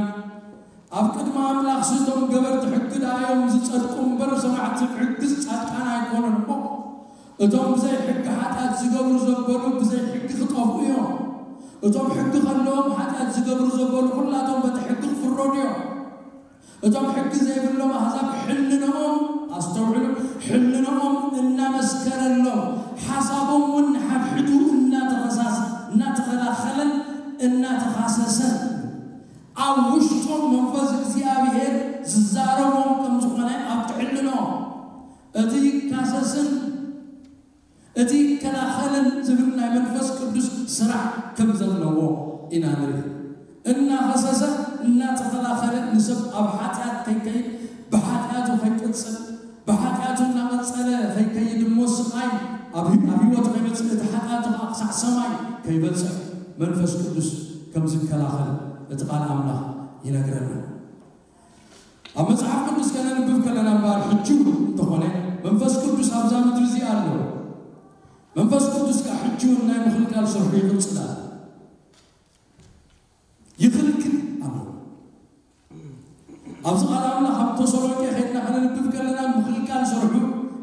ኣብ ቅድሚ ኣምላኽ እቶም ገበርቲ ሕጊ ደኣ እዮም ዝጸድቁ እምበር፣ ሰማዕቲ ሕግስ ጻድቃን ኣይኮኑን እሞ፣ እቶም ብዘይ ሕጊ ሓጢኣት ዝገብሩ ዘበሉ ብዘይ ሕጊ ክጠፍኡ እዮም። እቶም ሕጊ ከለዎም ሓጢኣት ዝገብሩ ዘበሉ ኩላቶም በቲ ሕጊ ክፍረዱ እዮም። እቶም ሕጊ ዘይብሎም ኣህዛብ ሕልንኦም፣ ኣስተውዕሉ፣ ሕልንኦም እናመስከረሎም፣ ሓሳቦም እውን ንሓድሕዱ እናተኸሳስ-፣ እናተኸላኸለን እናተኻሰሰን፣ ኣብ ውሽጦም መንፈስ እግዚኣብሔር ዝዛረቦም ከም ዝኾነ ኣብቲ ሕልንኦም፣ እቲ ይካሰስን እቲ ይከላኸልን ዝብል ናይ መንፈስ ቅዱስ ስራሕ ከም ዘለዎ ኢና ንርኢ። እናኸሰሰ፣ እናተኸላኸለ ንሰብ ኣብ ሓጢኣት ከይከይድ፣ ብሓጢኣቱ ከይቅጽል፣ ብሓጢኣቱ እናቐጸለ ከይከይድ እሞ ስቓይ ኣብ፣ ኣብ ህይወቱ ከይመጽእ፣ እቲ ሓጢኣቱ ከዓ ክሳዕ ሰማይ ከይበጽሕ መንፈስ ቅዱስ ከም ዝከላኸል እቲ ቃል ኣምላኽ ይነግረና። ኣብ መጽሓፍ ቅዱስ ከነንብብ ከለና እምበኣር ሕጂ እውን እንተኾነ መንፈስ ቅዱስ ኣብዛ ምድሪ እዚኣ ኣሎ። መንፈስ ቅዱስ ከኣ ሕጂ እውን ናይ ምኽልካል ስርሑ ይቕጽል ኣሎ። ይኽልክል ኣሎ። ኣብዚ ቃል ኣምላኽ ኣብ ተሰሎንቄ ከይድና ከነንብብ ከለና ምኽልካል ስርሑ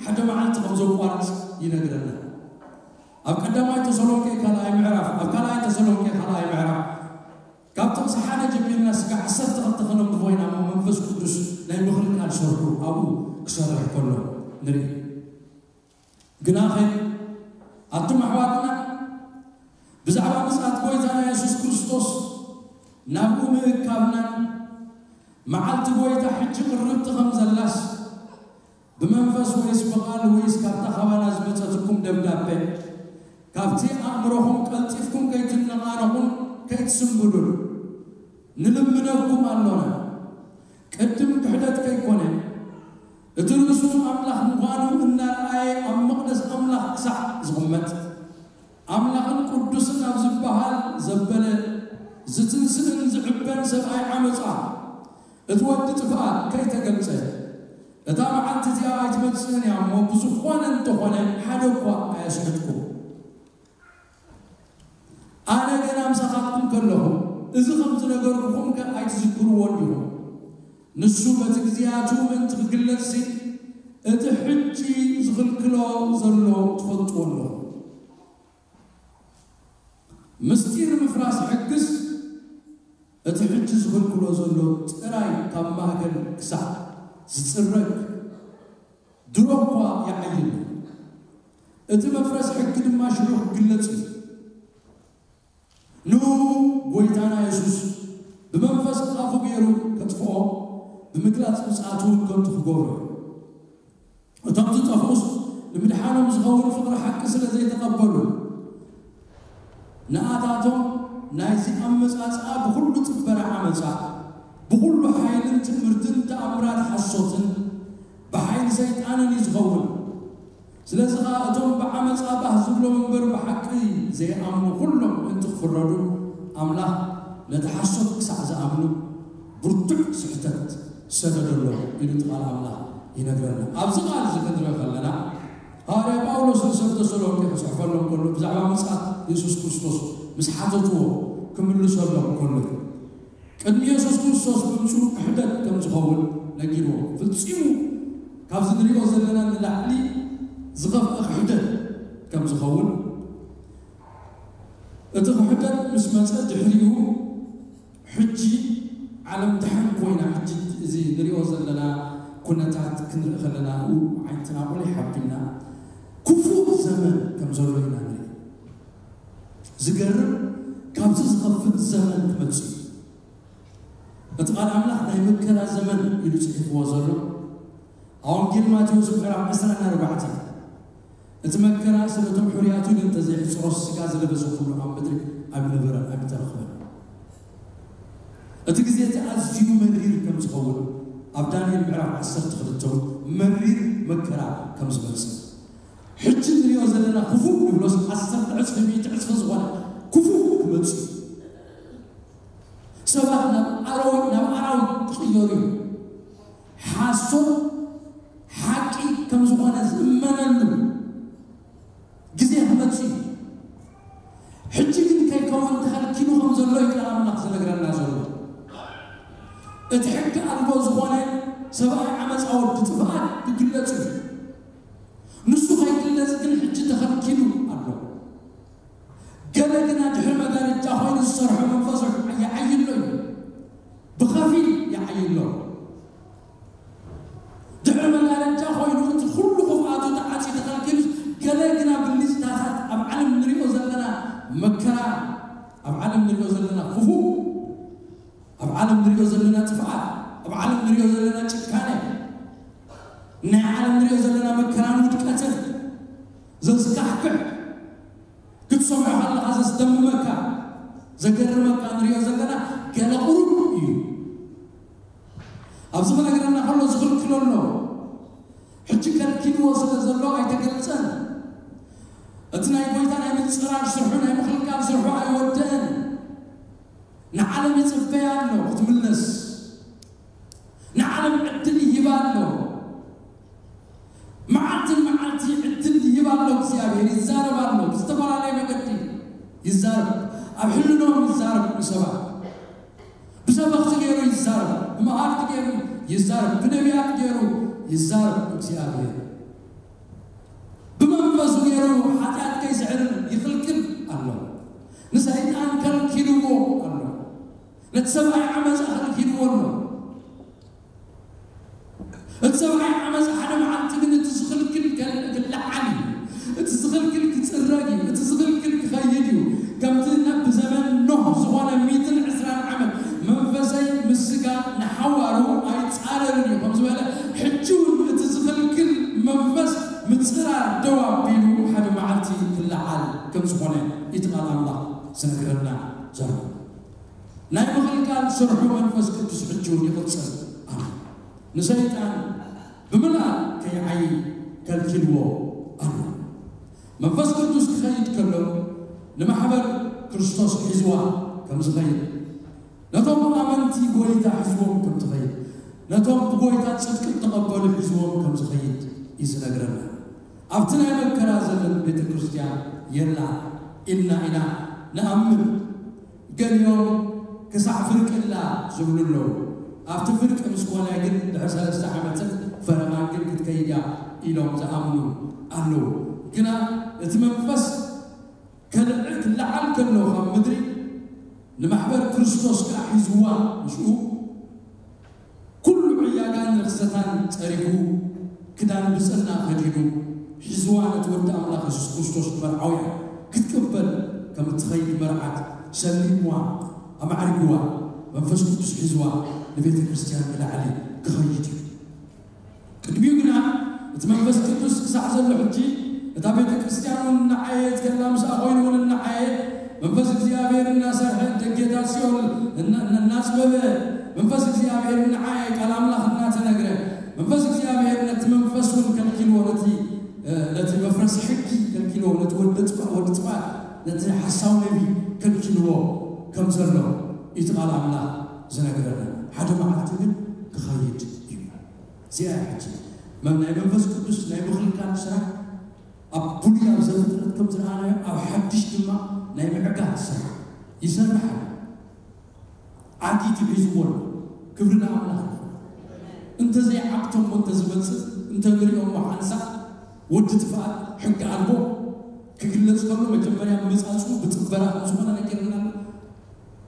ሓደ መዓልቲ ከም ዘቋርጽ ይነግረና። ኣብ ቀዳማይ ተሰሎንቄ ካልኣይ ምዕራፍ፣ ኣብ ካልኣይ ተሰሎንቄ ካልኣይ ምዕራፍ ካብ ጥቕሲ ሓደ ጀሚርና ስጋዕ ዓሰርተ ክልተ ከነንብቦ ኢና እሞ መንፈስ ቅዱስ ናይ ምኽልካል ስርሑ ኣብኡ ክሰርሕ ከሎ ንርኢ። ግናኸ ኣቱም ኣሕዋትና ብዛዕባ ምጽኣት ጎይታና የሱስ ክርስቶስ ናብኡ ምእካብናን መዓልቲ ጎይታ ሕጂ ቅርብቲ ከም ዘላስ ብመንፈስ ወይስ ብቓል ወይስ ካብታ ካባና ዝመጸትኩም ደብዳቤ ካብቲ ኣእምሮኹም ቀልጢፍኩም ከይትነቓነቑን ከይትስንብዱን ንልምነኩም ኣሎና። ቅድም ክሕደት ከይኮነ ሰብኣይ ዓመፃ፣ እቲ ወዲ ጥፍኣት ከይተገልፀ፣ እታ መዓልቲ እዚኣ ኣይትመፅእን እያ እሞ፣ ብዝኾነ እንተኾነ ሓደ እኳ ኣየስሕትኩም። ኣነ ገና ምሳኻትኩም ከለኹ፣ እዚ ከም ዝነገርኩኹም ከ ኣይትዝክርዎን ዲኹም? ንሱ በቲ ግዜያቱ ምእንቲ ክግለጽሲ፣ እቲ ሕጂ ዝኽልክሎ ዘሎ ትፈልጥዎ ኣለኹም። ምስጢር ምፍራስ ሕግስ፣ እቲ ሕጂ ዝኽልክሎ ዘሎ ጥራይ ካብ ማእከል ክሳዕ ዝጽረግ ድሮ እኳ ይዓይን። እቲ መፍረስ ሕጊ ድማ ሽዑ ክግለጽ እዩ። ንኡ ጎይታና የሱስ ብመንፈስ ኣፉ ገይሩ ከጥፍኦ፣ ብምግላጽ ምጽኣቱ እውን ከንቱ ክገብሮ እዩ። እቶም ዝጠፍኡስ ንምድሓኖም ዝኸውን ፍቕሪ ሓቂ ስለ ዘይተቐበሉ፣ ንኣታቶም ናይዚ ኣመጻጽኣ ብኹሉ ጽበረ ዓመጻ፣ ብኹሉ ሓይልን ትምህርትን ተኣምራት ሓሶትን ብሓይሊ ሰይጣንን እዩ ዝኸውን። ስለዚ ኸኣ እቶም ብዓመጻ ባህ ዝብሎም እምበር ብሓቂ ዘይኣምኑ ኩሎም ምእንቲ ክፍረዱ፣ ኣምላኽ ነቲ ሓሶት ክሳዕ ዝኣምኑ ብርቱዕ ስሕተት ሰደደሎም ኢሉ እቲ ቃል ኣምላኽ ይነግረና። ኣብዚ ቃል እዚ ክንርኢ ከለና፣ ሃዋርያ ጳውሎስ ንሰብ ተሰሎንቄ ክጽሕፈሎም ከሎ ብዛዕባ ምጽኣት የሱስ ክርስቶስ ምስ ሓተትዎ ክምልሰሎም ከሎ እዩ። ቅድሚ የሱስ ክርስቶስ ምምጽኡ ክሕደት ከም ዝኸውን ነጊርዎ። ፍጺሙ ካብዚ ንሪኦ ዘለና ንላዕሊ ዝኸፍአ ክሕደት ከም ዝኸውን፣ እቲ ክሕደት ምስ መጸ ድሕሪኡ ሕጂ ዓለም ደሓን ኮይና፣ ሕጂ እዚ ንሪኦ ዘለና ኩነታት ክንርኢ ከለና፣ ኡ ዓይንትና ቁሊሕ ኣቢልና ክፉእ ዘመን ከም ዘሎ ኢና ንርኢ። ዝገርም፣ ካብዚ ዝኸፍእ ዘመን ክመጽእ እዩ። እቲ ቃል ኣምላኽ ናይ መከራ ዘመን ኢሉ ጽሒፍዎ ዘሎ ኣብ ወንጌል ማቴዎስ ምዕራፍ ዕስራን ኣርባዕተን፣ እቲ መከራ ስለ እቶም ሕሩያት ኢሉ እንተዘይሕጽሮስ፣ ስጋ ዝለበሰ ኩሉ ኣብ ምድሪ ኣይምነበረን ኣይምተረኽበን። እቲ ግዜ እቲ ኣዝዩ መሪር ከም ዝኸውን ኣብ ዳንኤል ምዕራፍ ዓሰርተ ክልተ እውን መሪር መከራ ከም ዝመጽእ፣ ሕጂ ንሪኦ ዘለና ክፉእ ንብሎስ ዓሰርተ ዕጽፊ፣ ሚእቲ ዕጽፊ ዝኾነ ክፉእ ክመጽእ እዩ። ሰባት ናብ ኣራዊት፣ ናብ ኣራዊት ክቕየሩ እዮም። ሓሶት ሓቂ ከም ዝኾነ ዝእመነሉ ግዜ ክመጽእ እዩ። ሕጂ ግን ከይከውን ተኸልኪሉ ከም ዘሎ እዩ ቃል ኣምላኽ ዝነግረና ዘሎ። እቲ ሕጊ ኣልቦ ዝኾነ ሰብኣይ ዓመፃ ወዲ ጥፍኣት ክግለጽ እዩ። ንሱ ከይግለጽ ግን ሕጂ ተኸልኪሉ ኣሎ። ገለ ግና ድሕሪ መጋረጃ ኮይኑ ዝሰርሖ መንፈሱ ይዓይሎ እዩ። ብኸፊል ይዓይሎ። ድሕሪ መጋረጃ ኮይኑ እቲ ኩሉ ክፍኣቱ ተዓጽዩ ተኸልኪሉስ፣ ገለ ግና ብልጭታታት ኣብ ዓለም ንሪኦ ዘለና መከራ፣ ኣብ ዓለም ንሪኦ ዘለና ክፉእ፣ ኣብ ዓለም ንሪኦ ዘለና ጥፍኣት፣ ኣብ ዓለም ንሪኦ ዘለና ጭካነ፣ ናይ ዓለም ንሪኦ ዘለና መከራን ውድቀትን ዘስካሕክሕ፣ ክትሰምዖ ከለኻ ዘስደምመካ፣ ዘገርመካ ንሪኦ ዘለና ገለ ቁሩብ እዩ። ኣብዚ ክነግረና ከሎ ዝኽልክሎ ኣሎ። ሕጂ ከልኪልዎ ስለ ዘሎ ኣይተገልጸን። እቲ ናይ ጎይታ ናይ ምጽራር ስርሑ፣ ናይ ምኽልካል ስርሑ ኣይወደአን። ንዓለም ይጽበያ ኣሎ ክትምለስ። ንዓለም ዕድል ይህባ ኣሎ። መዓልትን መዓልቲ ዕድል ይህባ ኣሎ እግዚኣብሔር። ይዛረብ ኣሎ። ብዝተፈላለየ መገዲ ይዛረብ። ኣብ ሕልኖም ይዛረብ ንሰባት። ብሰበኽቲ ገይሩ ይዛረብ። ብመሃርቲ ገይሩ ይዛረብ። ብነቢያት ገይሩ ይዛረብ እግዚኣብሔር። ብመንፈሱ ገይሩ ሓጢኣት ከይስዕርን ይኽልክል ኣሎ። ንሰይጣን ከልኪልዎ ኣሎ። ነቲ ሰብኣይ ዓመፃ ከልኪልዎ ኣሎ። እቲ ሰብኣይ ዓመፃ ሓደ መዓልቲ ግን እቲ ዝኽልክል ከል-፣ ክለዓል እዩ። እቲ ዝኽልክል ክፅረግ እዩ። እቲ ዝኽልክል ክኸይድ እዩ። ከምቲ ናብ ብዘመን ኖህ ዝኾነ ሚእትን ዕስራን ዓመት መንፈሰይ ምስ ስጋ ንሓዋሩ ኣይፃረርን እዩ ከም ዝበለ፣ ሕጂ እውን እቲ ዝኽልክል መንፈስ ምፅራር ደው ኣቢሉ ሓደ መዓልቲ ክለዓል ከም ዝኾነ እዩ እቲ ቃል ኣምላኽ ዝነግረና ዘሎ። ናይ ምኽልካል ስርሑ መንፈስ ቅዱስ ሕጂ እውን ይቕጽል ኣሎ። ንሰይጣን ብምልኣት ከይዓዪ ከልኪልዎ ኣሎ። መንፈስ ቅዱስ ክኸይድ ከሎ ንማሕበር ክርስቶስ ሒዝዋ ከም ዝኸይድ፣ ነቶም ኣመንቲ ጎይታ ሒዝዎም ከም ትኸይድ፣ ነቶም ብጎይታ ጽድቂ እተቐበሉ ሒዝዎም ከም ዝኸይድ እዩ ዝነግረና። ኣብቲ ናይ መከራ ዘመን ቤተ ክርስቲያን የላ ኢልና ኢና ንኣምን። ገሊኦም ክሳዕ ፍርቂ ኣላ ዝብሉ ኣለዉ። ኣብቲ ፍርቂ ምስ ኮነ ግን ድሕሪ ሰለስተ ዓመትን ፈረቓን ግን ክትከይድ እያ ኢሎም ዝኣምኑ ኣለዉ። ግና እቲ መንፈስ ከልዕ ክለዓል ከሎ ካብ ምድሪ ንማሕበር ክርስቶስ ከኣ ሒዝዋ፣ ምስኡ ኩሉ ዕያጋን ርኽሰታን ጸሪጉ፣ ክዳን ብጽና ከዲኑ ሒዝዋ ነቲ ወዲ ኣምላኽ የሱስ ክርስቶስ ንመርዓውያ ክትቅበል ከም እትኸይድ መርዓት ሰሊምዋ፣ ኣማዕሪግዋ፣ መንፈስ ቅዱስ ሒዝዋ ንቤተ ክርስቲያን ንላዕሊ ክኸይድ እዩ። ቅድሚኡ ግና እቲ መንፈስ ቅዱስ ክሳዕ ዘሎ ሕጂ እታ ቤተ ክርስቲያን እውን እናዓየት ከላ ምስኣ ኮይኑ እውን እናዓየ መንፈስ እግዚኣብሔር እናሰርሐ ደጌታት ሲኦል እና- እናጽበበ መንፈስ እግዚኣብሔር እናዓየ ቃል ኣምላኽ እናተነግረ መንፈስ እግዚኣብሔር ነቲ መንፈስ እውን ከልኪልዎ ነቲ እ፣ ነቲ መፍረስ ሕጊ ከልኪልዎ ነቲ ወዲ ጥፋ ወዲ ጥፋ ነቲ ሓሳው ነቢ ከልኪልዎ ከም ዘሎ እቲ ቃል ኣምላኽ ዝነግረና ሓደ መዓልቲ ግን ክኸይድ እዩ። እዚኣ ሕጂ መም ናይ መንፈስ ቅዱስ ናይ ምኽልካል ስራሕ ኣብ ብሉይ ኣብ ዘፍጥረት ከም ዝረኣናዮ ኣብ ሓድሽ ድማ ናይ ምዕጋት ስራሕ ይሰርሕ ኣሎ። ዓጊቱ ሒዝዎ ኣሎ። ክብሪ ንኣምላኽ ይኹን። እንተዘይዓግቶሞ እንተዝመጽእ እንተንሪኦሞ ሓንሳእ ወዲ ጥፍኣት ሕጊ ኣልቦ ክግለጽ ከሎ መጀመርያ ምጻጹ ብጥበራ ከም ዝኾነ ነጊርና ኣሎ።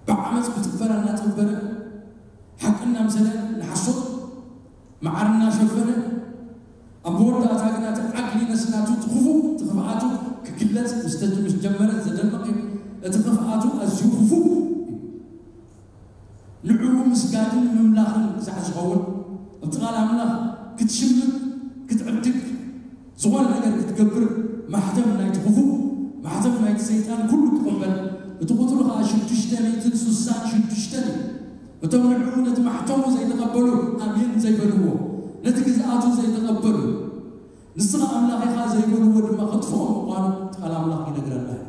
ብዓመፅ ብጥበራ እናጠበረ ሓቂ እናምሰለ ንሓሶት መዓር እናሸፈነ ኣብ መወዳእታ ግና እቲ ዓግሊነስ ናቱ እቲ ክፉእ እቲ ክፍኣቱ ክግለፅ ምስ ተጅ- ምስ ጀመረ ዘደንቕ እዩ። እቲ ክፍኣቱ ኣዝዩ ክፉእ እዩ። ንዕኡ ምስጋድን ምምላኽን ክሳዕ ዝኸውን ኣብቲ ቃል ኣምላኽ ክትሽምት ክትዕድግ ዝኾነ ነገር ክትገብር ማሕተም ናይቲ ክፉእ ማሕተም ናይቲ ሰይጣን ኩሉ ክቕበል እቲ ቁፅሩ ከዓ ሽዱሽተ ሚእትን ስሳን ሽዱሽተን እዩ። እቶም ንዕኡ ነቲ ማሕተሙ ዘይተቐበሉ ኣሜን ዘይበልዎ ነቲ ግዝኣቱ ዘይተቐበሉ ንስኻ ኣምላኽ ኢኻ ዘይበልዎ ድማ ከጥፍኦም ምዃኑ እቲ ቃል ኣምላኽ ይነግረና እዩ።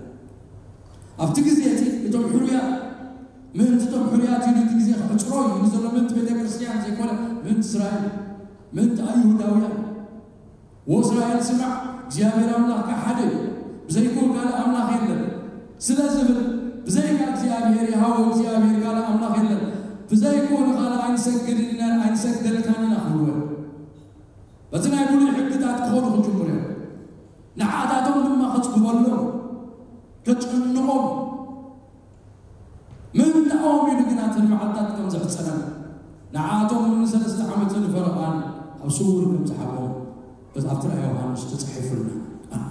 ኣብቲ ግዜ እቲ እቶም ሕሩያት ምእንቲ እቶም ሕሩያት ኢሉ እቲ ግዜ ክሕፅሮ እዩ ኢሉ ዘሎ ምእንቲ ቤተ ክርስቲያን ዘይኮነ ምእንቲ እስራኤል ምእንቲ ኣይሁዳውያን ወእስራኤል ስማዕ እግዚኣብሔር ኣምላኽካ ሓደ እዩ ብዘይኮ ካልእ ኣምላኽ የለን ስለ ዝብል ብዘይካ እግዚኣብሔር የሃወ እግዚኣብሔር ካልእ ኣምላኽ የለን ብዘይኮ ንኻልእ ኣይንሰግድን ኢና ኣይንሰግደልካን ኢና ክብልዎ በቲ ናይ ብሉይ ሕግታት ክኸዱ ክጅምሩ እዮም ንዓታቶም ድማ ከፅግበሎም ከጨንቖም ምእንታኦም ኢሉ ግና እተን መዓልታት ከም ዘሕፀረን ንዓቶም እውን ንሰለስተ ዓመትን ፈረቓን ኣብ ስውር ከም ዝሓቦም በዚ ኣብቲ ራእይ ዮሃንስ ተፃሒፉልና ኣሎ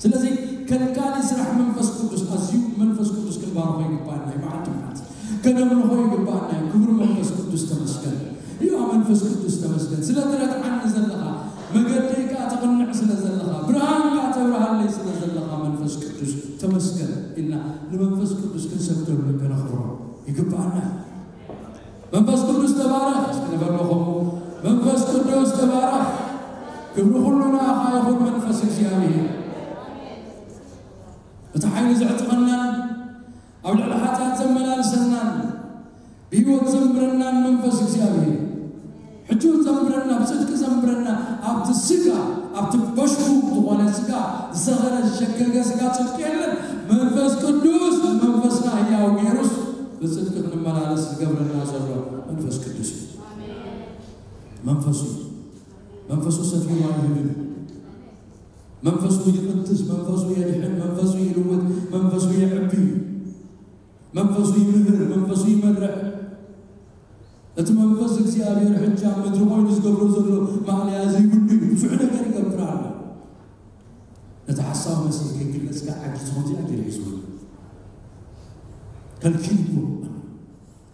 ስለዚ ከልካሊ ስራሕ መንፈስ ቅዱስ ኣዝዩ መንፈስ ቅዱስ ክንባርኾ ይግባኣና እዩ መዓልቲ መዓልቲ ከነምልኾ ይግባኣና እዩ ክብሪ መንፈስ ቅዱስ ተመስገን እዩ መንፈስ ቅዱስ ተመስገን ስለ ትረድዓኒ ዘለኻ መገደይ ከዓ ተቕንዕ ስለ ዘለኻ ብርሃን ከዓ ተብርሃለይ ስለ ዘለኻ መንፈስ ቅዱስ ተመስገን ኢልና ንመንፈስ ቅዱስ ክንሰግደሉ ከነኽብሮ ይግባኣና መንፈስ ቅዱስ ተባረኽ እስኪ ንበሎ ከምኡ መንፈስ ቅዱስ ተባረኽ ክብሪ ኩሉ ንኣኻ ይኹን መንፈስ እግዚኣብሔር እቲ ሓይሊ ዘዕጥቐናን ኣብ ልዕሊ ሓጢኣት ዘመላልሰናን ብህይወት ዘንብረናን መንፈስ እግዚኣብሔር ሕጂ እውን ዘንብረና ብፅድቂ ዘንብረና ኣብቲ ስጋ ኣብቲ በሽኩ ዝኾነ ስጋ ዝሰኸረ ዝሸገገ ስጋ ፅድቂ የለን መንፈስ ቅዱስ ንመንፈስና ህያው ገይሩስ ብፅድቂ ክንመላለስ ዝገብረና ዘሎ መንፈስ ቅዱስ እዩ መንፈሱ እዩ መንፈሱ ሰፊሩ ኣይህብን መንፈሱ ይቕድስ መንፈሱ የድሕን መንፈሱ ይልውጥ መንፈሱ የዕቢ መንፈሱ ይምህር መንፈሱ ይመርሕ እቲ መንፈስ እግዚኣብሔር ሕጂ ኣብ ምድሪ ኮይኑ ዝገብሮ ዘሎ ማእለያ ዘይብሉ እዩ ብዙሕ ነገር ይገብር ኣሎ ነቲ ሓሳብ መሲል ከይግለጽካ ዓጊ ዝኾን ዚኣ ገይሩ ሒዝዎ ከልኪልዎ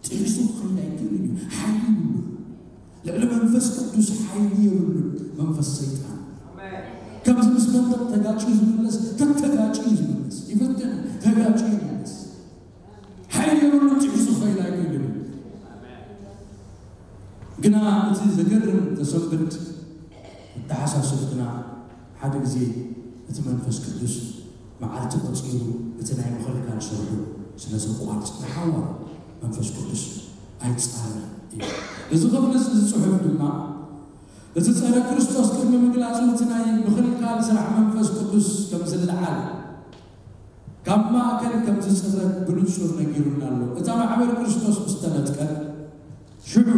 ጥሒሱ ክኸይድ ኣይክእልን እዩ ሓይሊ ይብሉ ልዕሊ መንፈስ ቅዱስ ሓይሊ የብሉ መንፈስ ሰይጣን ከምዚ ምስ መንጠቕ ተጋጭ ዝምለስ ተተጋጭ ዝምለስ ይፍትን ተጋጭ ይምለስ ሓይሊ የብሉ ጥሒሱ ክኸይድ ኣይክእልን ግና እቲ ዘገርም ዘሰንብድ ኣተሓሳስብ ግና ሓደ ግዜ እቲ መንፈስ ቅዱስ መዓልቲ ቆፂሩ እቲ ናይ ምኽልካል ስርሑ ስለ ዘቋርፅ ንሓዋ መንፈስ ቅዱስ ኣይጻረር እዩ። እዚ ክፍሊ እዚ ጽሑፍ ድማ እቲ ጸረ ክርስቶስ ቅድሚ ምግላጹ እቲ ናይ ምኽልካል ስራሕ መንፈስ ቅዱስ ከም ዝለዓል ካብ ማእከል ከም ዝጽረግ ብንጹር ነጊሩና ኣሎ። እታ ማሕበር ክርስቶስ ምስ ተነጥቀት ሽዑ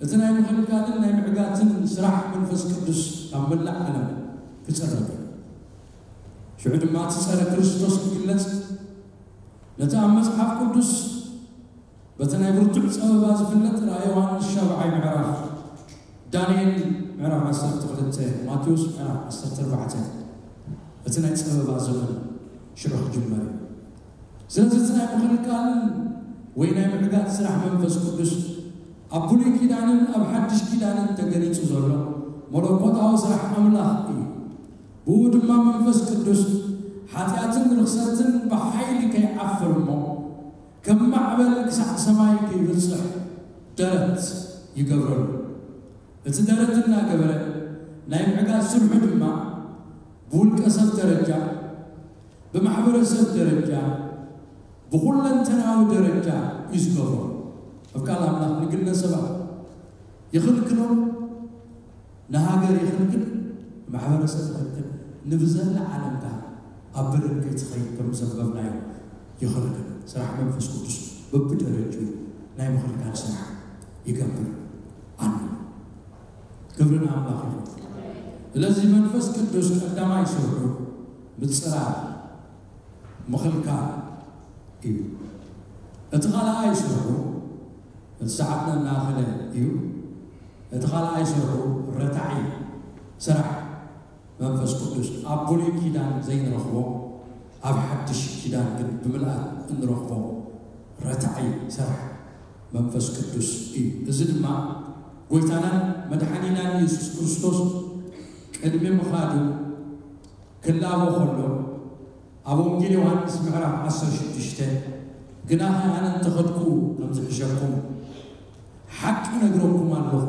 እቲ ናይ ምኽልካልን ናይ ምዕጋትን ስራሕ መንፈስ ቅዱስ ካብ መላእ ዓለም ክጸረግ እዩ። ሽዑ ድማ እቲ ጸረ ክርስቶስ ክግለጽ ነቲ ኣብ መጽሓፍ ቅዱስ በቲ ናይ ብርቱዕ ጸበባ ዝፍለጥ ራእይ ዮሃንስ ሻብዓይ ምዕራፍ፣ ዳንኤል ምዕራፍ ዓሰርተ ክልተ፣ ማቴዎስ ምዕራፍ ዓሰርተ ኣርባዕተ፣ እቲ ናይ ጸበባ ዘመን ሽዑ ክጅመር እዩ። ስለዚ እቲ ናይ ምኽልካልን ወይ ናይ ምዕጋት ስራሕ መንፈስ ቅዱስ ኣብ ብሉይ ኪዳንን ኣብ ሓድሽ ኪዳንን ተገሊጹ ዘሎ መለኮታዊ ስራሕ ኣምላኽ እዩ። ብኡ ድማ መንፈስ ቅዱስ ሓጢኣትን ርኽሰትን ብሓይሊ ከይዓፍር እሞ ከም ማዕበል ክሳዕ ሰማይ ከይብጽሕ ደረት ይገብረሉ። እቲ ደረት እናገበረ ናይ ምዕጋት ስርሑ ድማ ብውልቀ ሰብ ደረጃ፣ ብማሕበረሰብ ደረጃ፣ ብኹለንተናዊ ደረጃ እዩ ዝገብሮ። ኣብ ቃል ኣምላኽ ንግለሰባት ይኽልክሎ፣ ንሃገር ይኽልክል፣ ንማሕበረሰብ ይኽልክል፣ ንብዘላ ዓለም ከኣ ኣብ በደል ከይትኸይድ ከም ዘንበብናዮ ይኽልክል። ስራሕ መንፈስ ቅዱስ በብደረጅኡ ናይ ምኽልካል ስራሕ ይገብር ኣሎ። ክብሪ ንኣምላኽ ይኹን። ስለዚ መንፈስ ቅዱስ ቀዳማይ ስርሑ ምጽራር፣ ምኽልካል እዩ። እቲ ካልኣይ ስርሑ፣ እቲ ሰዓትና እናኸለ እዩ። እቲ ካልኣይ ስርሑ ረታዒ ስራሕ መንፈስ ቅዱስ ኣብ ብሉይ ኪዳን ዘይንረኽቦ፣ ኣብ ሓድሽ ኪዳን ግን ብምልኣት እንረኽቦ ረታዒ ስራሕ መንፈስ ቅዱስ እዩ። እዚ ድማ ጎይታናን መድሓኒናን የሱስ ክርስቶስ ቅድሚ ምኻዱ ክላቦ ከሎ ኣብ ወንጌል ዮሃንስ ምዕራፍ ዓሰርተ ሽዱሽተ፣ ግናኸ ኣነ እንተኸድኩ ከም ዝሕሸኩም ሓቂ እነግረኩም ኣለኹ፣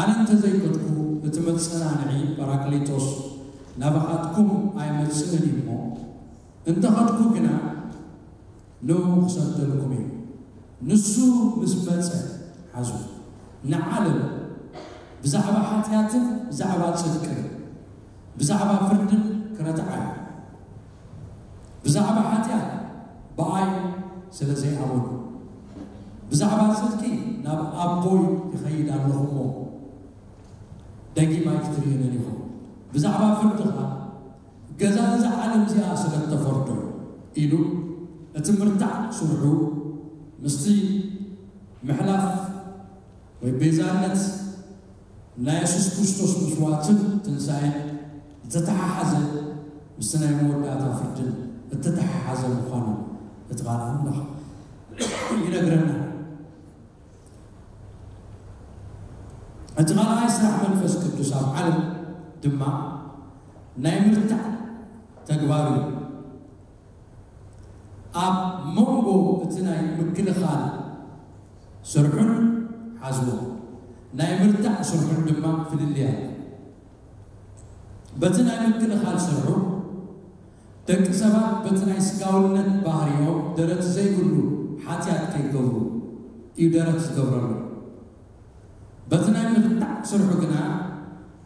ኣነ እንተዘይከድኩ እቲ መጸናንዒ ጳራቅሊጦስ ናባኻትኩም ኣይመጽእን እዩ እሞ፣ እንተኸድኩ ግና ንኡ ክሰደልኩም እዩ። ንሱ ምስ መጸ፣ ሓዙ፣ ንዓለም ብዛዕባ ሓጢኣትን ብዛዕባ ጽድቅን ብዛዕባ ፍርድን ክረትዓ እዩ። ብዛዕባ ሓጢኣት ብኣይ ስለ ዘይኣመኑ፣ ብዛዕባ ጽድቂ ናብ ኣቦይ ይኸይድ ኣለኹ እሞ ደጊም ኣይክትርእዩንን ኢኹም። ብዛዕባ ፍርዲ ኸኣ ገዛ እዛ ዓለም እዚኣ ስለ እተፈርዶ ኢሉ እቲ ምርታዕ ስርሑ ምስቲ ምሕላፍ ወይ ቤዛነት ናይ የሱስ ክርስቶስ መስዋእትን ትንሳኤን ዝተተሓሓዘ ምስቲ ናይ መወዳእታ ፍርድን እተተሓሓዘ ምዃኑ እቲ ቃል ኣምላኽ ይነግረና። እቲ ካልኣይ ስራሕ መንፈስ ቅዱስ ኣብ ዓለም ድማ ናይ ምርታዕ ተግባር እዩ። ኣብ መንጎ እቲ ናይ ምክልኻል ስርሑን ሓዝቦ ናይ ምርታዕ ስርሑን ድማ ፍልልይ ኣሎ። በቲ ናይ ምክልኻል ስርሑ ደቂ ሰባት በቲ ናይ ስጋውነት ባህሪኦም ደረት ዘይብሉ ሓጢኣት ከይገብሩ እዩ ደረት ዝገብረሉ። በቲ ናይ ምርታዕ ስርሑ ግና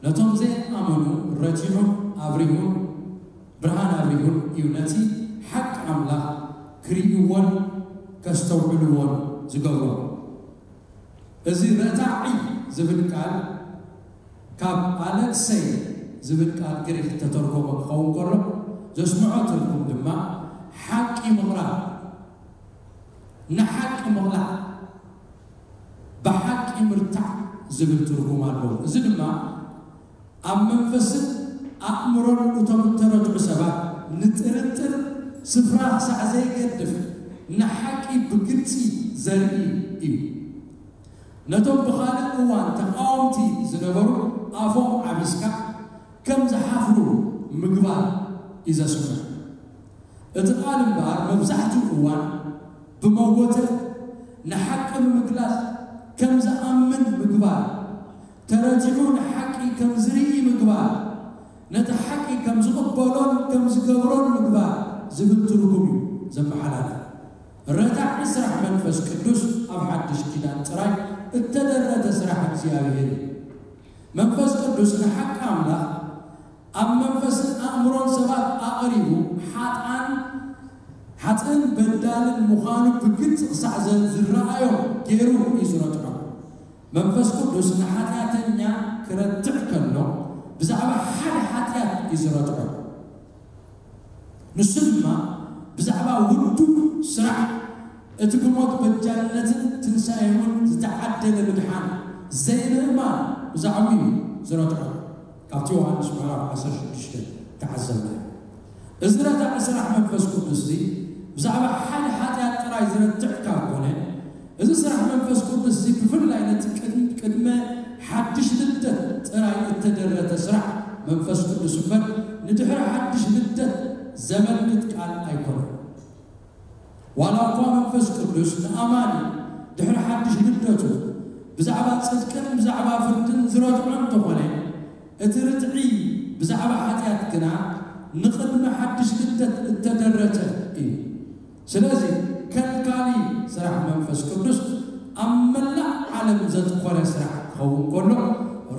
ነቶም ዘይኣመኑ ረቲዑን ኣብሪሁን ብርሃን ኣብሪሁን እዩ ነቲ ሓቂ ኣምላኽ ክርእይዎን ከስተውዕልዎን ዝገብሮም። እዚ ረታዒ ዝብል ቃል ካብ ኣለክሰይ ዝብል ቃል ግሪክ ዝተተርጎመ ክኸውን ከሎ ዘስምዖ ትርጉም ድማ ሓቂ ምቕራብ፣ ንሓቂ ምቕላዕ፣ ብሓቂ ምርታዕ ዝብል ትርጉም ኣለዎ። እዚ ድማ ኣብ መንፈስን ኣእምሮን እቶም እተረትዑ ሰባት ንጥርጥር ስፍራ ክሳዕ ዘይገድፍ ንሓቂ ብግልጺ ዘርኢ እዩ። ነቶም ብኻልእ እዋን ተቓወምቲ ዝነበሩ ኣፎም ዓቢስካ ከም ዝሓፍሩ ምግባር እዩ ዘስምዕ። እቲ ቃል እምበኣር መብዛሕትኡ እዋን ብመጎተ ንሓቂ ብምግላጽ ከም ዝኣምን ምግባር፣ ተረቲዑ ንሓቂ ከም ዝርኢ ምግባር፣ ነቲ ሓቂ ከም ዝቕበሎን ከም ዝገብሮን ምግባር ዝብል ትርጉም እዩ ዘመሓላልፍ። ረታዒ ስራሕ መንፈስ ቅዱስ ኣብ ሓድሽ ኪዳን ጥራይ እተደረተ ስራሕ እግዚኣብሔር እዩ። መንፈስ ቅዱስ ንሓቂ ኣምላኽ ኣብ መንፈስን ኣእምሮን ሰባት ኣቕሪቡ ሓጥኣን ሓጥእን በዳልን ምዃኑ ብግልፂ ክሳዕ ዘ- ዝረኣዮም ገይሩ እዩ ዝረትዖ። መንፈስ ቅዱስ ንሓጢኣተኛ ክረትዕ ከሎ ብዛዕባ ሓደ ሓጢኣት እዩ ዝረትዖ። ንሱ ድማ ብዛዕባ ውዱእ ስራሕ እቲ ብሞት በጃነትን ትንሳኤውን ዝተዓደለ ምድሓን ዘይምእማን ብዛዕባኡ እዩ ዝረትዖ። ካብቲ ዮሃንስ ምዕራፍ ዓሰርተ ሽዱሽተ ተዓዘብና። እዚ ረታዒ ስራሕ መንፈስ ቅዱስ እዚ ብዛዕባ ሓደ ሓጢኣት ጥራይ ዝረትዕ ካብ ኮነ፣ እዚ ስራሕ መንፈስ ቅዱስ እዚ ብፍላይ ነቲ ቅድሚ ቅድመ ሓድሽ ልደት ጥራይ እተደረተ ስራሕ መንፈስ ቅዱስ እምበር ንድሕሪ ሓድሽ ልደት ዘመልክት ቃል ኣይኮነን። ዋላ እኳ መንፈስ ቅዱስ ንኣማኒ ድሕሪ ሓድሽ ልደቱ ብዛዕባ ጽድቅን ብዛዕባ ፍርድን ዝረትዖ እንተኾነ፣ እቲ ርትዒ ብዛዕባ ሓጢኣት ግና ንቕድሚ ሓድሽ ልደት እተደረተ እዩ። ስለዚ ከልካሊ ስራሕ መንፈስ ቅዱስ ኣብ መላእ ዓለም ዘትኮረ ስራሕ ክኸውን ከሎ፣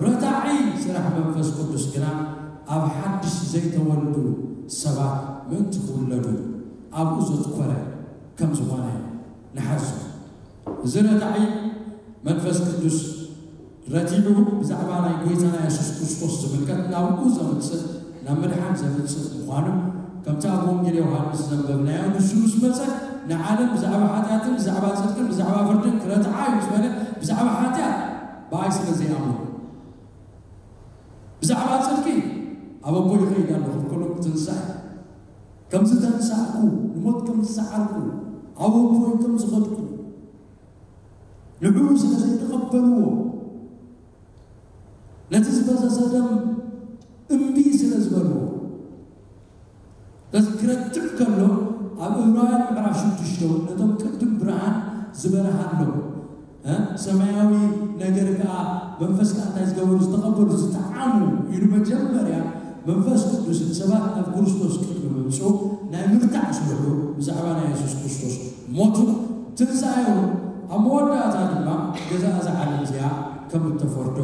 ረታዒ ስራሕ መንፈስ ቅዱስ ግና ኣብ ሓድሽ ዘይተወልዱ ሰባት ምእንቲ ክውለዱ ኣብኡ ዘትኮረ ከም ዝኾነ ንሓዞ። እዚ ረታዒ መንፈስ ቅዱስ ረቲዑ ብዛዕባ ናይ ጎይታና የሱስ ክርስቶስ ዝምልከት ናብኡ ዘምጽእ፣ ናብ ምድሓን ዘምጽእ ምዃኑ፣ ከምቲ ኣብ ወንጌል ዮሃንስ ዘንበብናዮ፣ ንሱ ምስ መጸ ንዓለም ብዛዕባ ሓጢኣትን ብዛዕባ ጽድቅን ብዛዕባ ፍርድን ክረትዓ እዩ ምስ በለ፣ ብዛዕባ ሓጢኣት ብኣይ ስለ ዘይኣምኑ፣ ብዛዕባ ጽድቂ ኣብ ኣቦይ ይኸይድ ኣለኹ፣ ከሎ ትንሳኤ ከም ዝተንሳእኩ፣ ንሞት ከም ዝሰዓርኩ፣ ኣብ ኣቦይ ከም ዝኸድኩ፣ ንዕኡ ስለ ዘይተቐበልዎ፣ ነቲ ዝፈሰሰ ደም እምቢ ስለ ዝበልዎ፣ በዚ ክረትዕ ከሎ ኣብ ዕብራውያን ምዕራፍ ሽዱሽተ እውን ነቶም ቅድም ብርሃን ዝበርሃሎም፣ እ፣ ሰማያዊ ነገር ከኣ መንፈስ ከኣ እንታይ ዝገበሩ ዝተቐበሉ ዝጠዓሙ ኢሉ መጀመርያ መንፈስ ቅዱስ ንሰባት ናብ ክርስቶስ ቅድሚ ምምጽኡ ናይ ምርታዕ ስርሑ ብዛዕባ ናይ የሱስ ክርስቶስ ሞቱ ትንሳኤውን ኣብ መወዳእታ ድማ ገዛ እዛ ዓለም እዚኣ ከም እተፈርዶ፣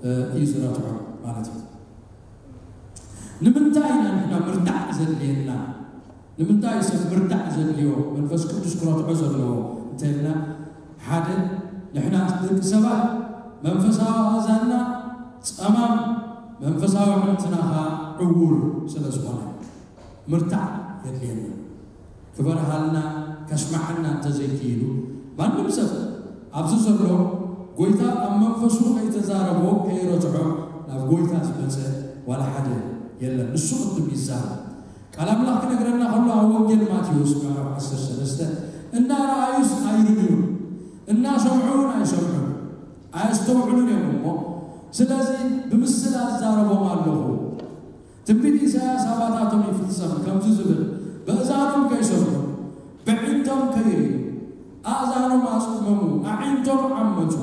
እ፣ እዩ ዝረትዖ ማለት እዩ። ንምንታይ ኢና ንሕና ምርታዕ ዘድልየና? ንምንታይ ሰብ ምርታዕ ዘድልዮ መንፈስ ቅዱስ ክረትዖ ዘለዎ እንተልና፣ ሓደ ንሕና ደቂ ሰባት መንፈሳዊ ኣእዛንና ጸማም መንፈሳዊ ዕንትና ኸኣ ዕዉር ስለ ዝኾነ ምርታዕ የድልየና። ክበርሃልና ከስማዓና እንተዘይክኢሉ ማንም ሰብ ኣብዚ ዘሎ ጎይታ ኣብ መንፈሱ ከይተዛረቦ ከይረትዖ ናብ ጎይታ ዝመጸ ዋላ ሓደ የለን። ንሱ ቅድም ይዛረብ። ቃል ኣምላኽ ክነግረና ከሎ ኣብ ወንጌል ማቴዎስ ምዕራፍ ዓሰርተ ሰለስተ እናረኣዩስ ኣይርእዩን፣ እናሰምዑ እውን ኣይሰምዑን፣ ኣየስተውዕሉን እዮም እሞ ስለዚ ብምስላ እዛረቦም ኣለኹ። ትንቢት ኢሳያስ ኣባታቶም ይፍጸም ከምዚ ዝብል፣ በእዛኖም ከይሰምዑ ብዕንቶም ከይርእዩ ኣእዛኖም ኣጽመሙ ኣዒንቶም ዓመጹ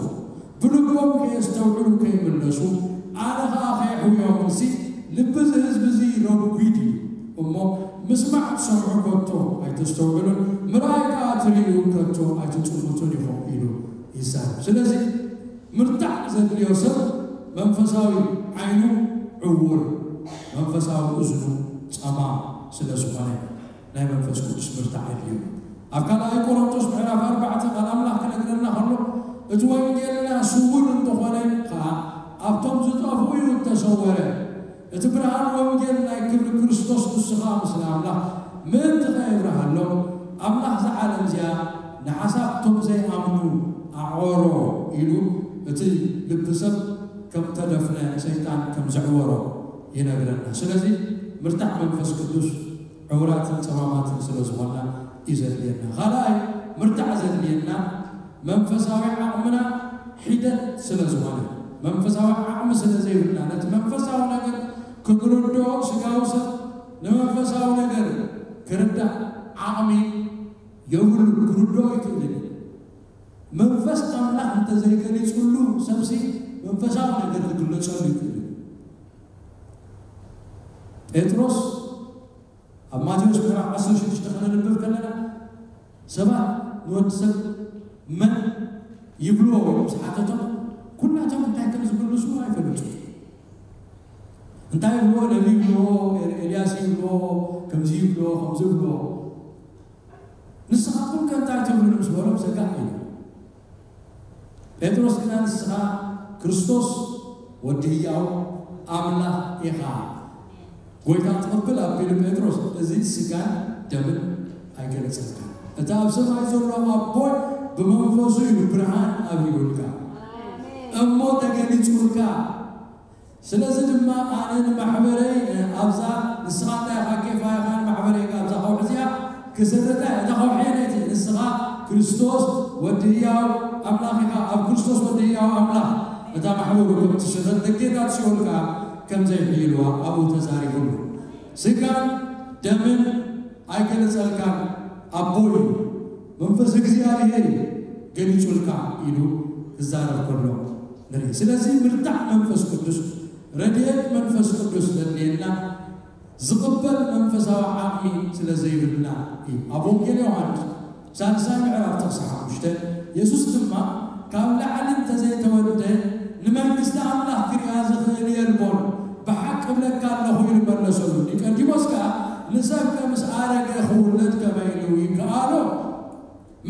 ብልቦም ከየስተውዕሉ ከይምለሱ ኣነ ኸኣ ከየሕውዮምሲ ልቢ እዚ ህዝቢ እዚ ረጒድ እዩ እሞ ምስማዕ ትሰምዑ ከቶ ኣይተስተውዕሉን ምርኣይ ከኣ ትርእዩ ከቶ ኣይትጥምቱን ኢኹም ኢሉ ይዛረብ። ስለዚ ምርታዕ ዘድልዮ ሰብ መንፈሳዊ ዓይኑ ዕውር መንፈሳዊ እዝኑ ጸማም ስለ ዝኾነ ናይ መንፈስ ቅዱስ ምርታዕ ኣድልዩ። ኣብ ካልኣይ ቆሮንቶስ ምዕራፍ ኣርባዕተ ቃል ኣምላኽ ክነግረና ከሎ እቲ ወንጌልና ስውር እንተኾነ ኸዓ ኣብቶም ዝጠፍኡ እዩ እተሰወረ። እቲ ብርሃን ወንጌል ናይ ክብሪ ክርስቶስ ንሱ ኸዓ ምስለ ኣምላኽ ምእንቲ ኸየብርሃሎም ኣምላኽ እዛ ዓለም እዚኣ ንሓሳብ እቶም ዘይኣምኑ ኣዕወሮ ኢሉ እቲ ልቢ ሰብ ከም ተደፍነ ሰይጣን ከም ዘዕወሮ ይነግረና። ስለዚ ምርታዕ መንፈስ ቅዱስ ዕውራትን ጸማማትን ስለ ዝኾንና እዩ ዘድልየና። ካልኣይ ምርታዕ ዘድልየና መንፈሳዊ ዓቕምና ሒደት ስለ ዝኾነ መንፈሳዊ ዓቕሚ ስለ ዘይብልና ነቲ መንፈሳዊ ነገር ክንርድኦ ስጋዊ ሰብ ንመንፈሳዊ ነገር ክርዳእ ዓቕሚ የብሉ ክርድኦ ይክእልን እዩ። መንፈስ ኣምላኽ እንተዘይገሊጹሉ ሰብሲ መንፈሳዊ ነገር ክግለጸሉ ይክእል እዩ። ጴጥሮስ ኣብ ማቴዎስ ምዕራፍ ዓሰርተ ሽዱሽተ ክነንብብ ከለና ሰባት ንወዲ ሰብ መን ይብልዎ ምስ ሓተቶም፣ ኩላቶም እንታይ ከም ዝምልሱ ኣይፈልጡ። እንታይ ይብልዎ? ነቢ ይብልዎ፣ ኤልያስ ይብልዎ፣ ከምዚ ይብልዎ፣ ከምዚ ይብልዎ። ንስኻትኩም ከ እንታይ ትብሉ ምስ በሎም፣ ሰጋእ ኢሉ። ጴጥሮስ ግና፣ ንስኻ ክርስቶስ ወዲ ህያው ኣምላኽ ኢኻ። ጎይታ ትቕብል ኣቢሉ ጴጥሮስ፣ እዚ ስጋን ደምን ኣይገለጸልካን። እቲ ኣብ ሰማይ ዘሎ ኣቦይ ብመንፈሱ እዩ ብርሃን ኣብሪሁልካ፣ እሞ ተገሊጹልካ። ስለዚ ድማ ኣነ ንማሕበረይ፣ እ፣ ኣብዛ፣ ንስኻ እንታይ ኢኻ፣ ኬፋ ኢኻ፣ ንማሕበረይ ከኣ ኣብዛ ከውሒ እዚኣ ክስርታ እየ። እታ ከውሒ ነቲ ንስኻ ክርስቶስ ወዲ ህያው ኣምላኽ ኢኻ፣ ኣብ ክርስቶስ ወዲ ህያው ኣምላኽ እታ ማሕበሩ ከም ትስረት፣ ደጌታት ሲኦል ከኣ ከም ዘይሕይልዋ ኣብኡ ተዛሪቡሉ። ስጋን ደምን ኣይገለጸልካን ኣቦይ፣ መንፈስ እግዚኣብሔር ገሊጹልካ ኢሉ ክዛረብ ከሎ ንርኢ። ስለዚ ምርዳእ መንፈስ ቅዱስ፣ ረድኤት መንፈስ ቅዱስ ዘድልየና፣ ዝቕበል መንፈሳዊ ዓቕሚ ስለ ዘይብልና እዩ። ኣብ ወንጌል ዮሃንስ ሳልሳይ ምዕራፍ ጥቕሲ ሓሙሽተ፣ የሱስ ድማ፣ ካብ ላዕሊ እንተዘይተወልደ ንመንግስቲ ኣምላኽ ክሪኣ ዝኽእል የልቦን፣ ብሓቂ እብለካ ኣለኹ ኢሉ መለሰሉ። ኒቆዲሞስ ከኣ፣ ንሰብ ከ ምስ ኣረገ ክውለድ ከመይ ኢሉ ይከኣሎ?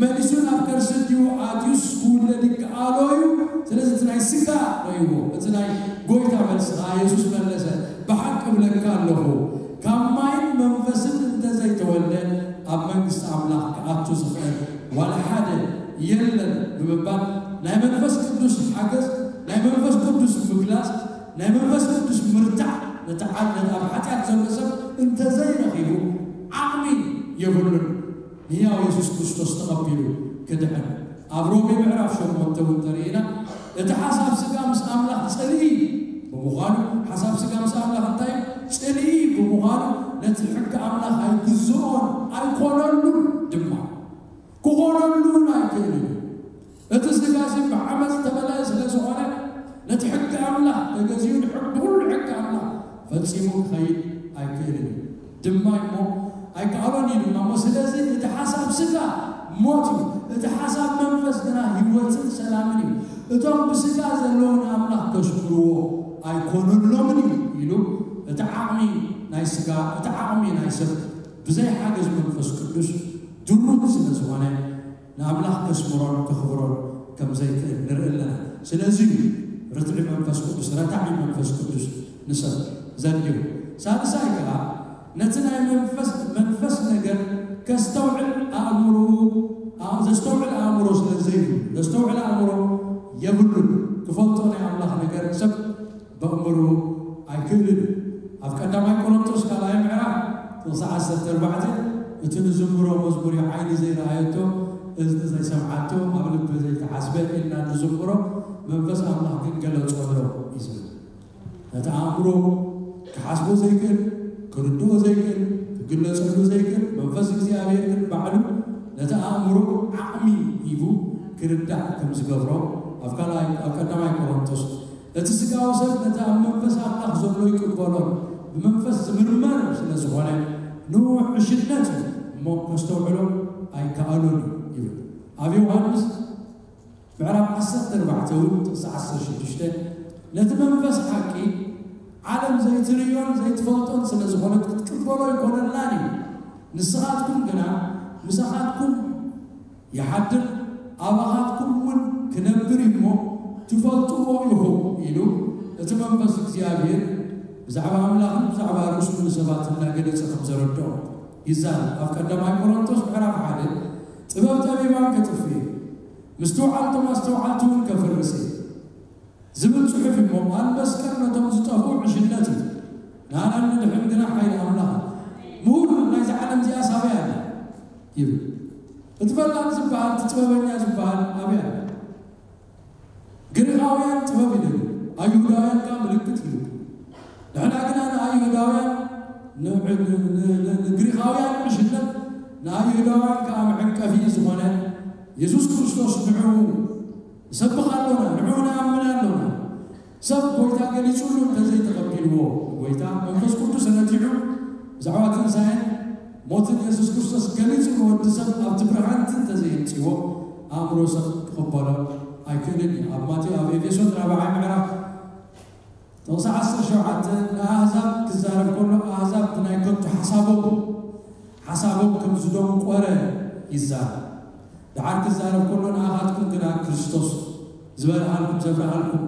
መሊሱ ናብ ከርሲ ኣዲኡ ኣትዩስ ክውለድ ይከኣሎ እዩ? ስለዚ እቲ ናይ ስጋ ረእይዎ፣ እቲ ናይ ጎይታ መልሲ ከኣ የሱስ መለሰ፣ ብሓቂ እብለካ ኣለኹ፣ ካብ ማይን መንፈስን እንተዘይተወልደ ኣብ መንግስቲ ኣምላኽ ክኣቱ ዝኽእል ዋላ ሓደ የለን ብምባል ናይ መንፈስ ቅዱስ ሓገዝ፣ ናይ መንፈስ ቅዱስ ምግላጽ፣ ናይ መንፈስ ቅዱስ ምርዳእ ነቲ ዓል-፣ ነቲ ኣብ ሓጢኣት ዘሎ ሰብ እንተዘይረኺቡ ዓቕሚ የብሉን። ንህያው የሱስ ክርስቶስ ተቐቢሉ ክድሕን። ኣብ ሮሜ ምዕራፍ ሸሞንተ እውን ተርእይና፣ እቲ ሓሳብ ስጋ ምስ ኣምላኽ ጽልኢ ብምዃኑ፣ ሓሳብ ስጋ ምስ ኣምላኽ እንታይ እዩ? ጽልኢ ብምዃኑ፣ ነቲ ሕጊ ኣምላኽ ኣይግዝኦን ኣይኮነሉን ድማ። ክኾነሉ እውን ኣይክእልን እዩ። እቲ ስጋ እዚ ብዓመፅ ዝተመልአ ስለ ዝኾነ፣ ነቲ ሕጊ ኣምላኽ ተገዚኡ ንሕጊ፣ ብኹሉ ሕጊ ኣምላኽ ፈጺሙ ክኸይድ ኣይክእልን እዩ። ድማ እሞ ኣይከኣሎን እዩ ድማ እሞ። ስለዚ እቲ ሓሳብ ስጋ ሞት እዩ፣ እቲ ሓሳብ መንፈስ ግና ህይወትን ሰላምን እዩ። እቶም ብስጋ ዘለዉ ንኣምላኽ ከስምርዎ ኣይኮነሎምን እዩ ኢሉ፣ እቲ ዓቕሚ ናይ ስጋ፣ እቲ ዓቕሚ ናይ ሰብ ብዘይ ሓገዝ መንፈስ ቅዱስ ድሩት ስለ ዝኾነ፣ ንኣምላኽ ከስምሮን ከኽብሮን ከም ዘይክእል ንርኢ ኣለና። ስለዚ እዩ ርትዒ መንፈስ ቅዱስ፣ ረታዒ መንፈስ ቅዱስ ንሰብ ዘድልዮ። ሳልሳይ ከኣ ነቲ ናይ መንፈስ፣ መንፈስ ነገር ከስተውዕል ኣእምሮኡ፣ ኣ-፣ ዘስተውዕል ኣእምሮ ስለ ዘይብሉ፣ ዘስተውዕል ኣእምሮ የብሉን። ክፈልጦ ናይ ኣምላኽ ነገር ሰብ በእምሮ ኣይክእልን እዩ። ኣብ ቀዳማይ ቆሮንቶስ ካልኣይ ምዕራፍ ጥቕሲ ዓሰርተ ኣርባዕተ፣ እቲ ንዝምሮ መዝሙር እዩ ዓይኒ ዘይረኣየቶ፣ እዝኒ ዘይሰምዓቶ፣ ኣብ ልቢ ዘይተሓስበ ኢልና ንዝምሮ መንፈስ ኣምላኽ ግን ገለጾ ኣሎ እዩ ዝብል። ነቲ ኣእምሮ ክሓስቦ ዘይክእል፣ ክርድኦ ዘይክእል፣ ክግለጸሉ ዘይክእል መንፈስ እግዚኣብሔር ግን ባዕሉ ነቲ ኣእምሮ ዓቕሚ ሂቡ ክርዳእ ከም ዝገብሮ ኣብ ካልኣይ፣ ኣብ ቀዳማይ ቆሮንቶስ እቲ ስጋዊ ሰብ ነቲ ኣብ መንፈስ ኣምላኽ ዘሎ ይቅበሎን ብመንፈስ ዝምርመር ስለ ዝኾነ ንውሕሽነት እዩ እሞ ከስተውዕሎ ኣይከኣሎን እዩ ይብል። ኣብ ዮሃንስ ምዕራፍ ዓሰርተ ኣርባዕተ እውን ጥቕሲ ዓሰርተ ሽዱሽተ፣ ነቲ መንፈስ ሓቂ ዓለም ዘይትርእዮን ዘይትፈልጦን ስለ ዝኾነት ክትቅበሎ ኣይኮነላን እዩ። ንስኻትኩም ግና ምሳኻትኩም ይሓድር፣ ኣባኻትኩም እውን ክነብር እዩ እሞ ትፈልጥዎ ኢኹም ኢሉ እቲ መንፈስ እግዚኣብሔር ብዛዕባ ኣምላኽን ብዛዕባ ርእሱን ንሰባት እናገለጸ ከም ዘረድኦ ይዛረብ። ኣብ ቀዳማይ ቆሮንቶስ ምዕራፍ ሓደ ጥበብ ጠቢባን ከጥፍእ፣ ምስትውዓል እቶም ኣስተውዓልቲ እውን ከፍርስ እየ ዝብል ጽሑፍ እሞ፣ ቃል መስቀል ነቶም ዝጠፍኡ ዕሽነት እዩ፣ ንኣና እንድሕን ግና ሓይሊ ኣምላኽ እዩ። ምሁር ናይዚ ዓለም እዚኣ ሳበይ ኣለ ይብል። እቲ ፈላጥ ዝበሃል፣ እቲ ጥበበኛ ዝበሃል ኣበይ ኣለ? ግሪኻውያን ጥበብ ይደልዩ፣ ኣይሁዳውያን ከኣ ምልክት ይልኩ። ንሕና ግና ንኣይሁዳውያን፣ ን-፣ ን-፣ ን-፣ ን-፣ ንግሪኻውያን ዕሽነት፣ ንኣይሁዳውያን ከኣ መዐንቀፊ ዝኾነ የሱስ ክርስቶስ ንዕኡ ንሰብኽ ኣሎና፣ ንዕኡ ንኣምን ኣሎና። ሰብ ጎይታ ገሊጹሉ እንተዘይተቐቢልዎ፣ ጎይታ መንፈስ ቅዱስ ረቲዑ ብዛዕባ ትንሳኤን ሞትን የሱስ ክርስቶስ ገሊጹ ንወዲ ሰብ ኣብቲ ብርሃንቲ እንተዘየምጽዎ ኣእምሮ ሰብ ክቕበሎ ኣይክእልን እዩ። ኣብ ማቴዎ ኣብ ኤፌሶን ራብዓይ ምዕራፍ ጥቕሲ ዓሰርተ ሸውዓተ ንኣህዛብ ክዛረብ ከሎ ኣህዛብ ብናይ ከንቱ ሓሳቦም ሓሳቦም ከም ዝደንቆረ ይዛረብ። ደሓር ክዛረብ ከሎ ንኣኻትኩም ግና ክርስቶስ ዝበልሃልኩም ዘብርሃልኩም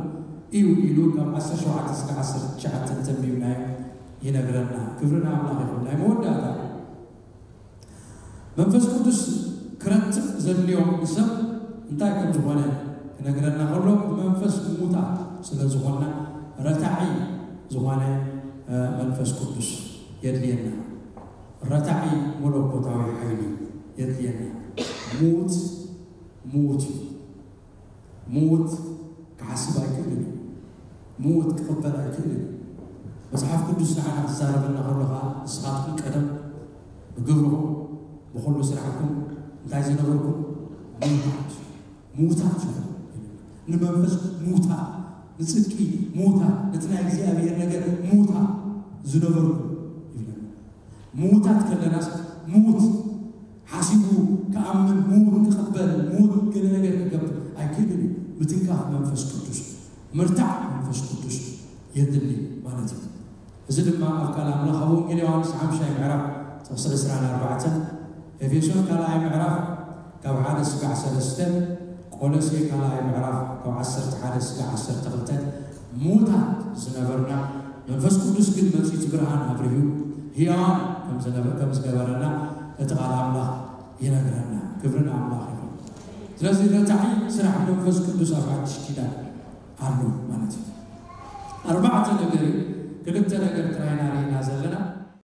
እዩ ኢሉ ካብ ዓሰርተ ሸውዓተ እስከ ዓሰርተ ትሽዓተ እንተንቢብናዮ ይነግረና። ክብሪ ንኣምላኽ ይኹን። ናይ መወዳእታ መንፈስ ቅዱስ ክረትዕ ዘድልዮ ንሰብ እንታይ ከም ዝኾነ ክነግረና ከሎ ብመንፈስ ሙታ ስለ ዝኾንና ረታዒ ዝኾነ መንፈስ ቅዱስ የድልየና። ረታዒ መለኮታዊ ሓይሊ የድልየና። ሙት ሙት እዩ። ሙት ክሓስብ ኣይክእልን እዩ። ሙት ክቕበል ኣይክእልን እዩ። መጽሓፍ ቅዱስ ንዓና ክዛረበና ከሎ ኸዓ ንስኻትኩም ቀደም ብግብርኹም ብኹሉ ስራሕኩም እንታይ ዝነበርኩም ሙታት ሙታት ንመንፈስ ሙታ ንጽድቂ ሙታ ነቲ ናይ እግዚኣብሔር ነገር ሙታ ዝነበርኩም ይብለና። ምዉታት ከለናስ ምዉት ሓሲቡ ክኣምን ምዉት ክቕበል ምዉት ገለ ነገር ክገብር ኣይክእልን እዩ። ምትንካፍ መንፈስ ቅዱስ ምርታዕ መንፈስ ቅዱስ የድሊ ማለት እዩ። እዚ ድማ ኣብ ቃል ኣምላኽ ኣብ ወንጌል ዮሃንስ ሓምሻይ ምዕራፍ ጥቕሲ ዕስራን ኣርባዕተን ኤፌሶን ካልኣይ ምዕራፍ ካብ ሓደ ስጋዕ ሰለስተ ቆሎሴ ካልኣይ ምዕራፍ ካብ ዓሰርተ ሓደ ስጋዕ ዓሰርተ ክልተ ምዉታት ዝነበርና መንፈስ ቅዱስ ግን መጺኡ እቲ ብርሃን ኣብሪሁ ህያዋን ከም ዝገበረና እቲ ቃል ኣምላኽ ይነግረና። ክብሪ ንኣምላኽ ይኹን። ስለዚ ረታዒ ስራሕ መንፈስ ቅዱስ ኣብ ሓድሽ ኪዳን ኣሎ ማለት እዩ። ኣርባዕተ ነገር እዩ። ክልተ ነገር ጥራይና ርኢና ዘለና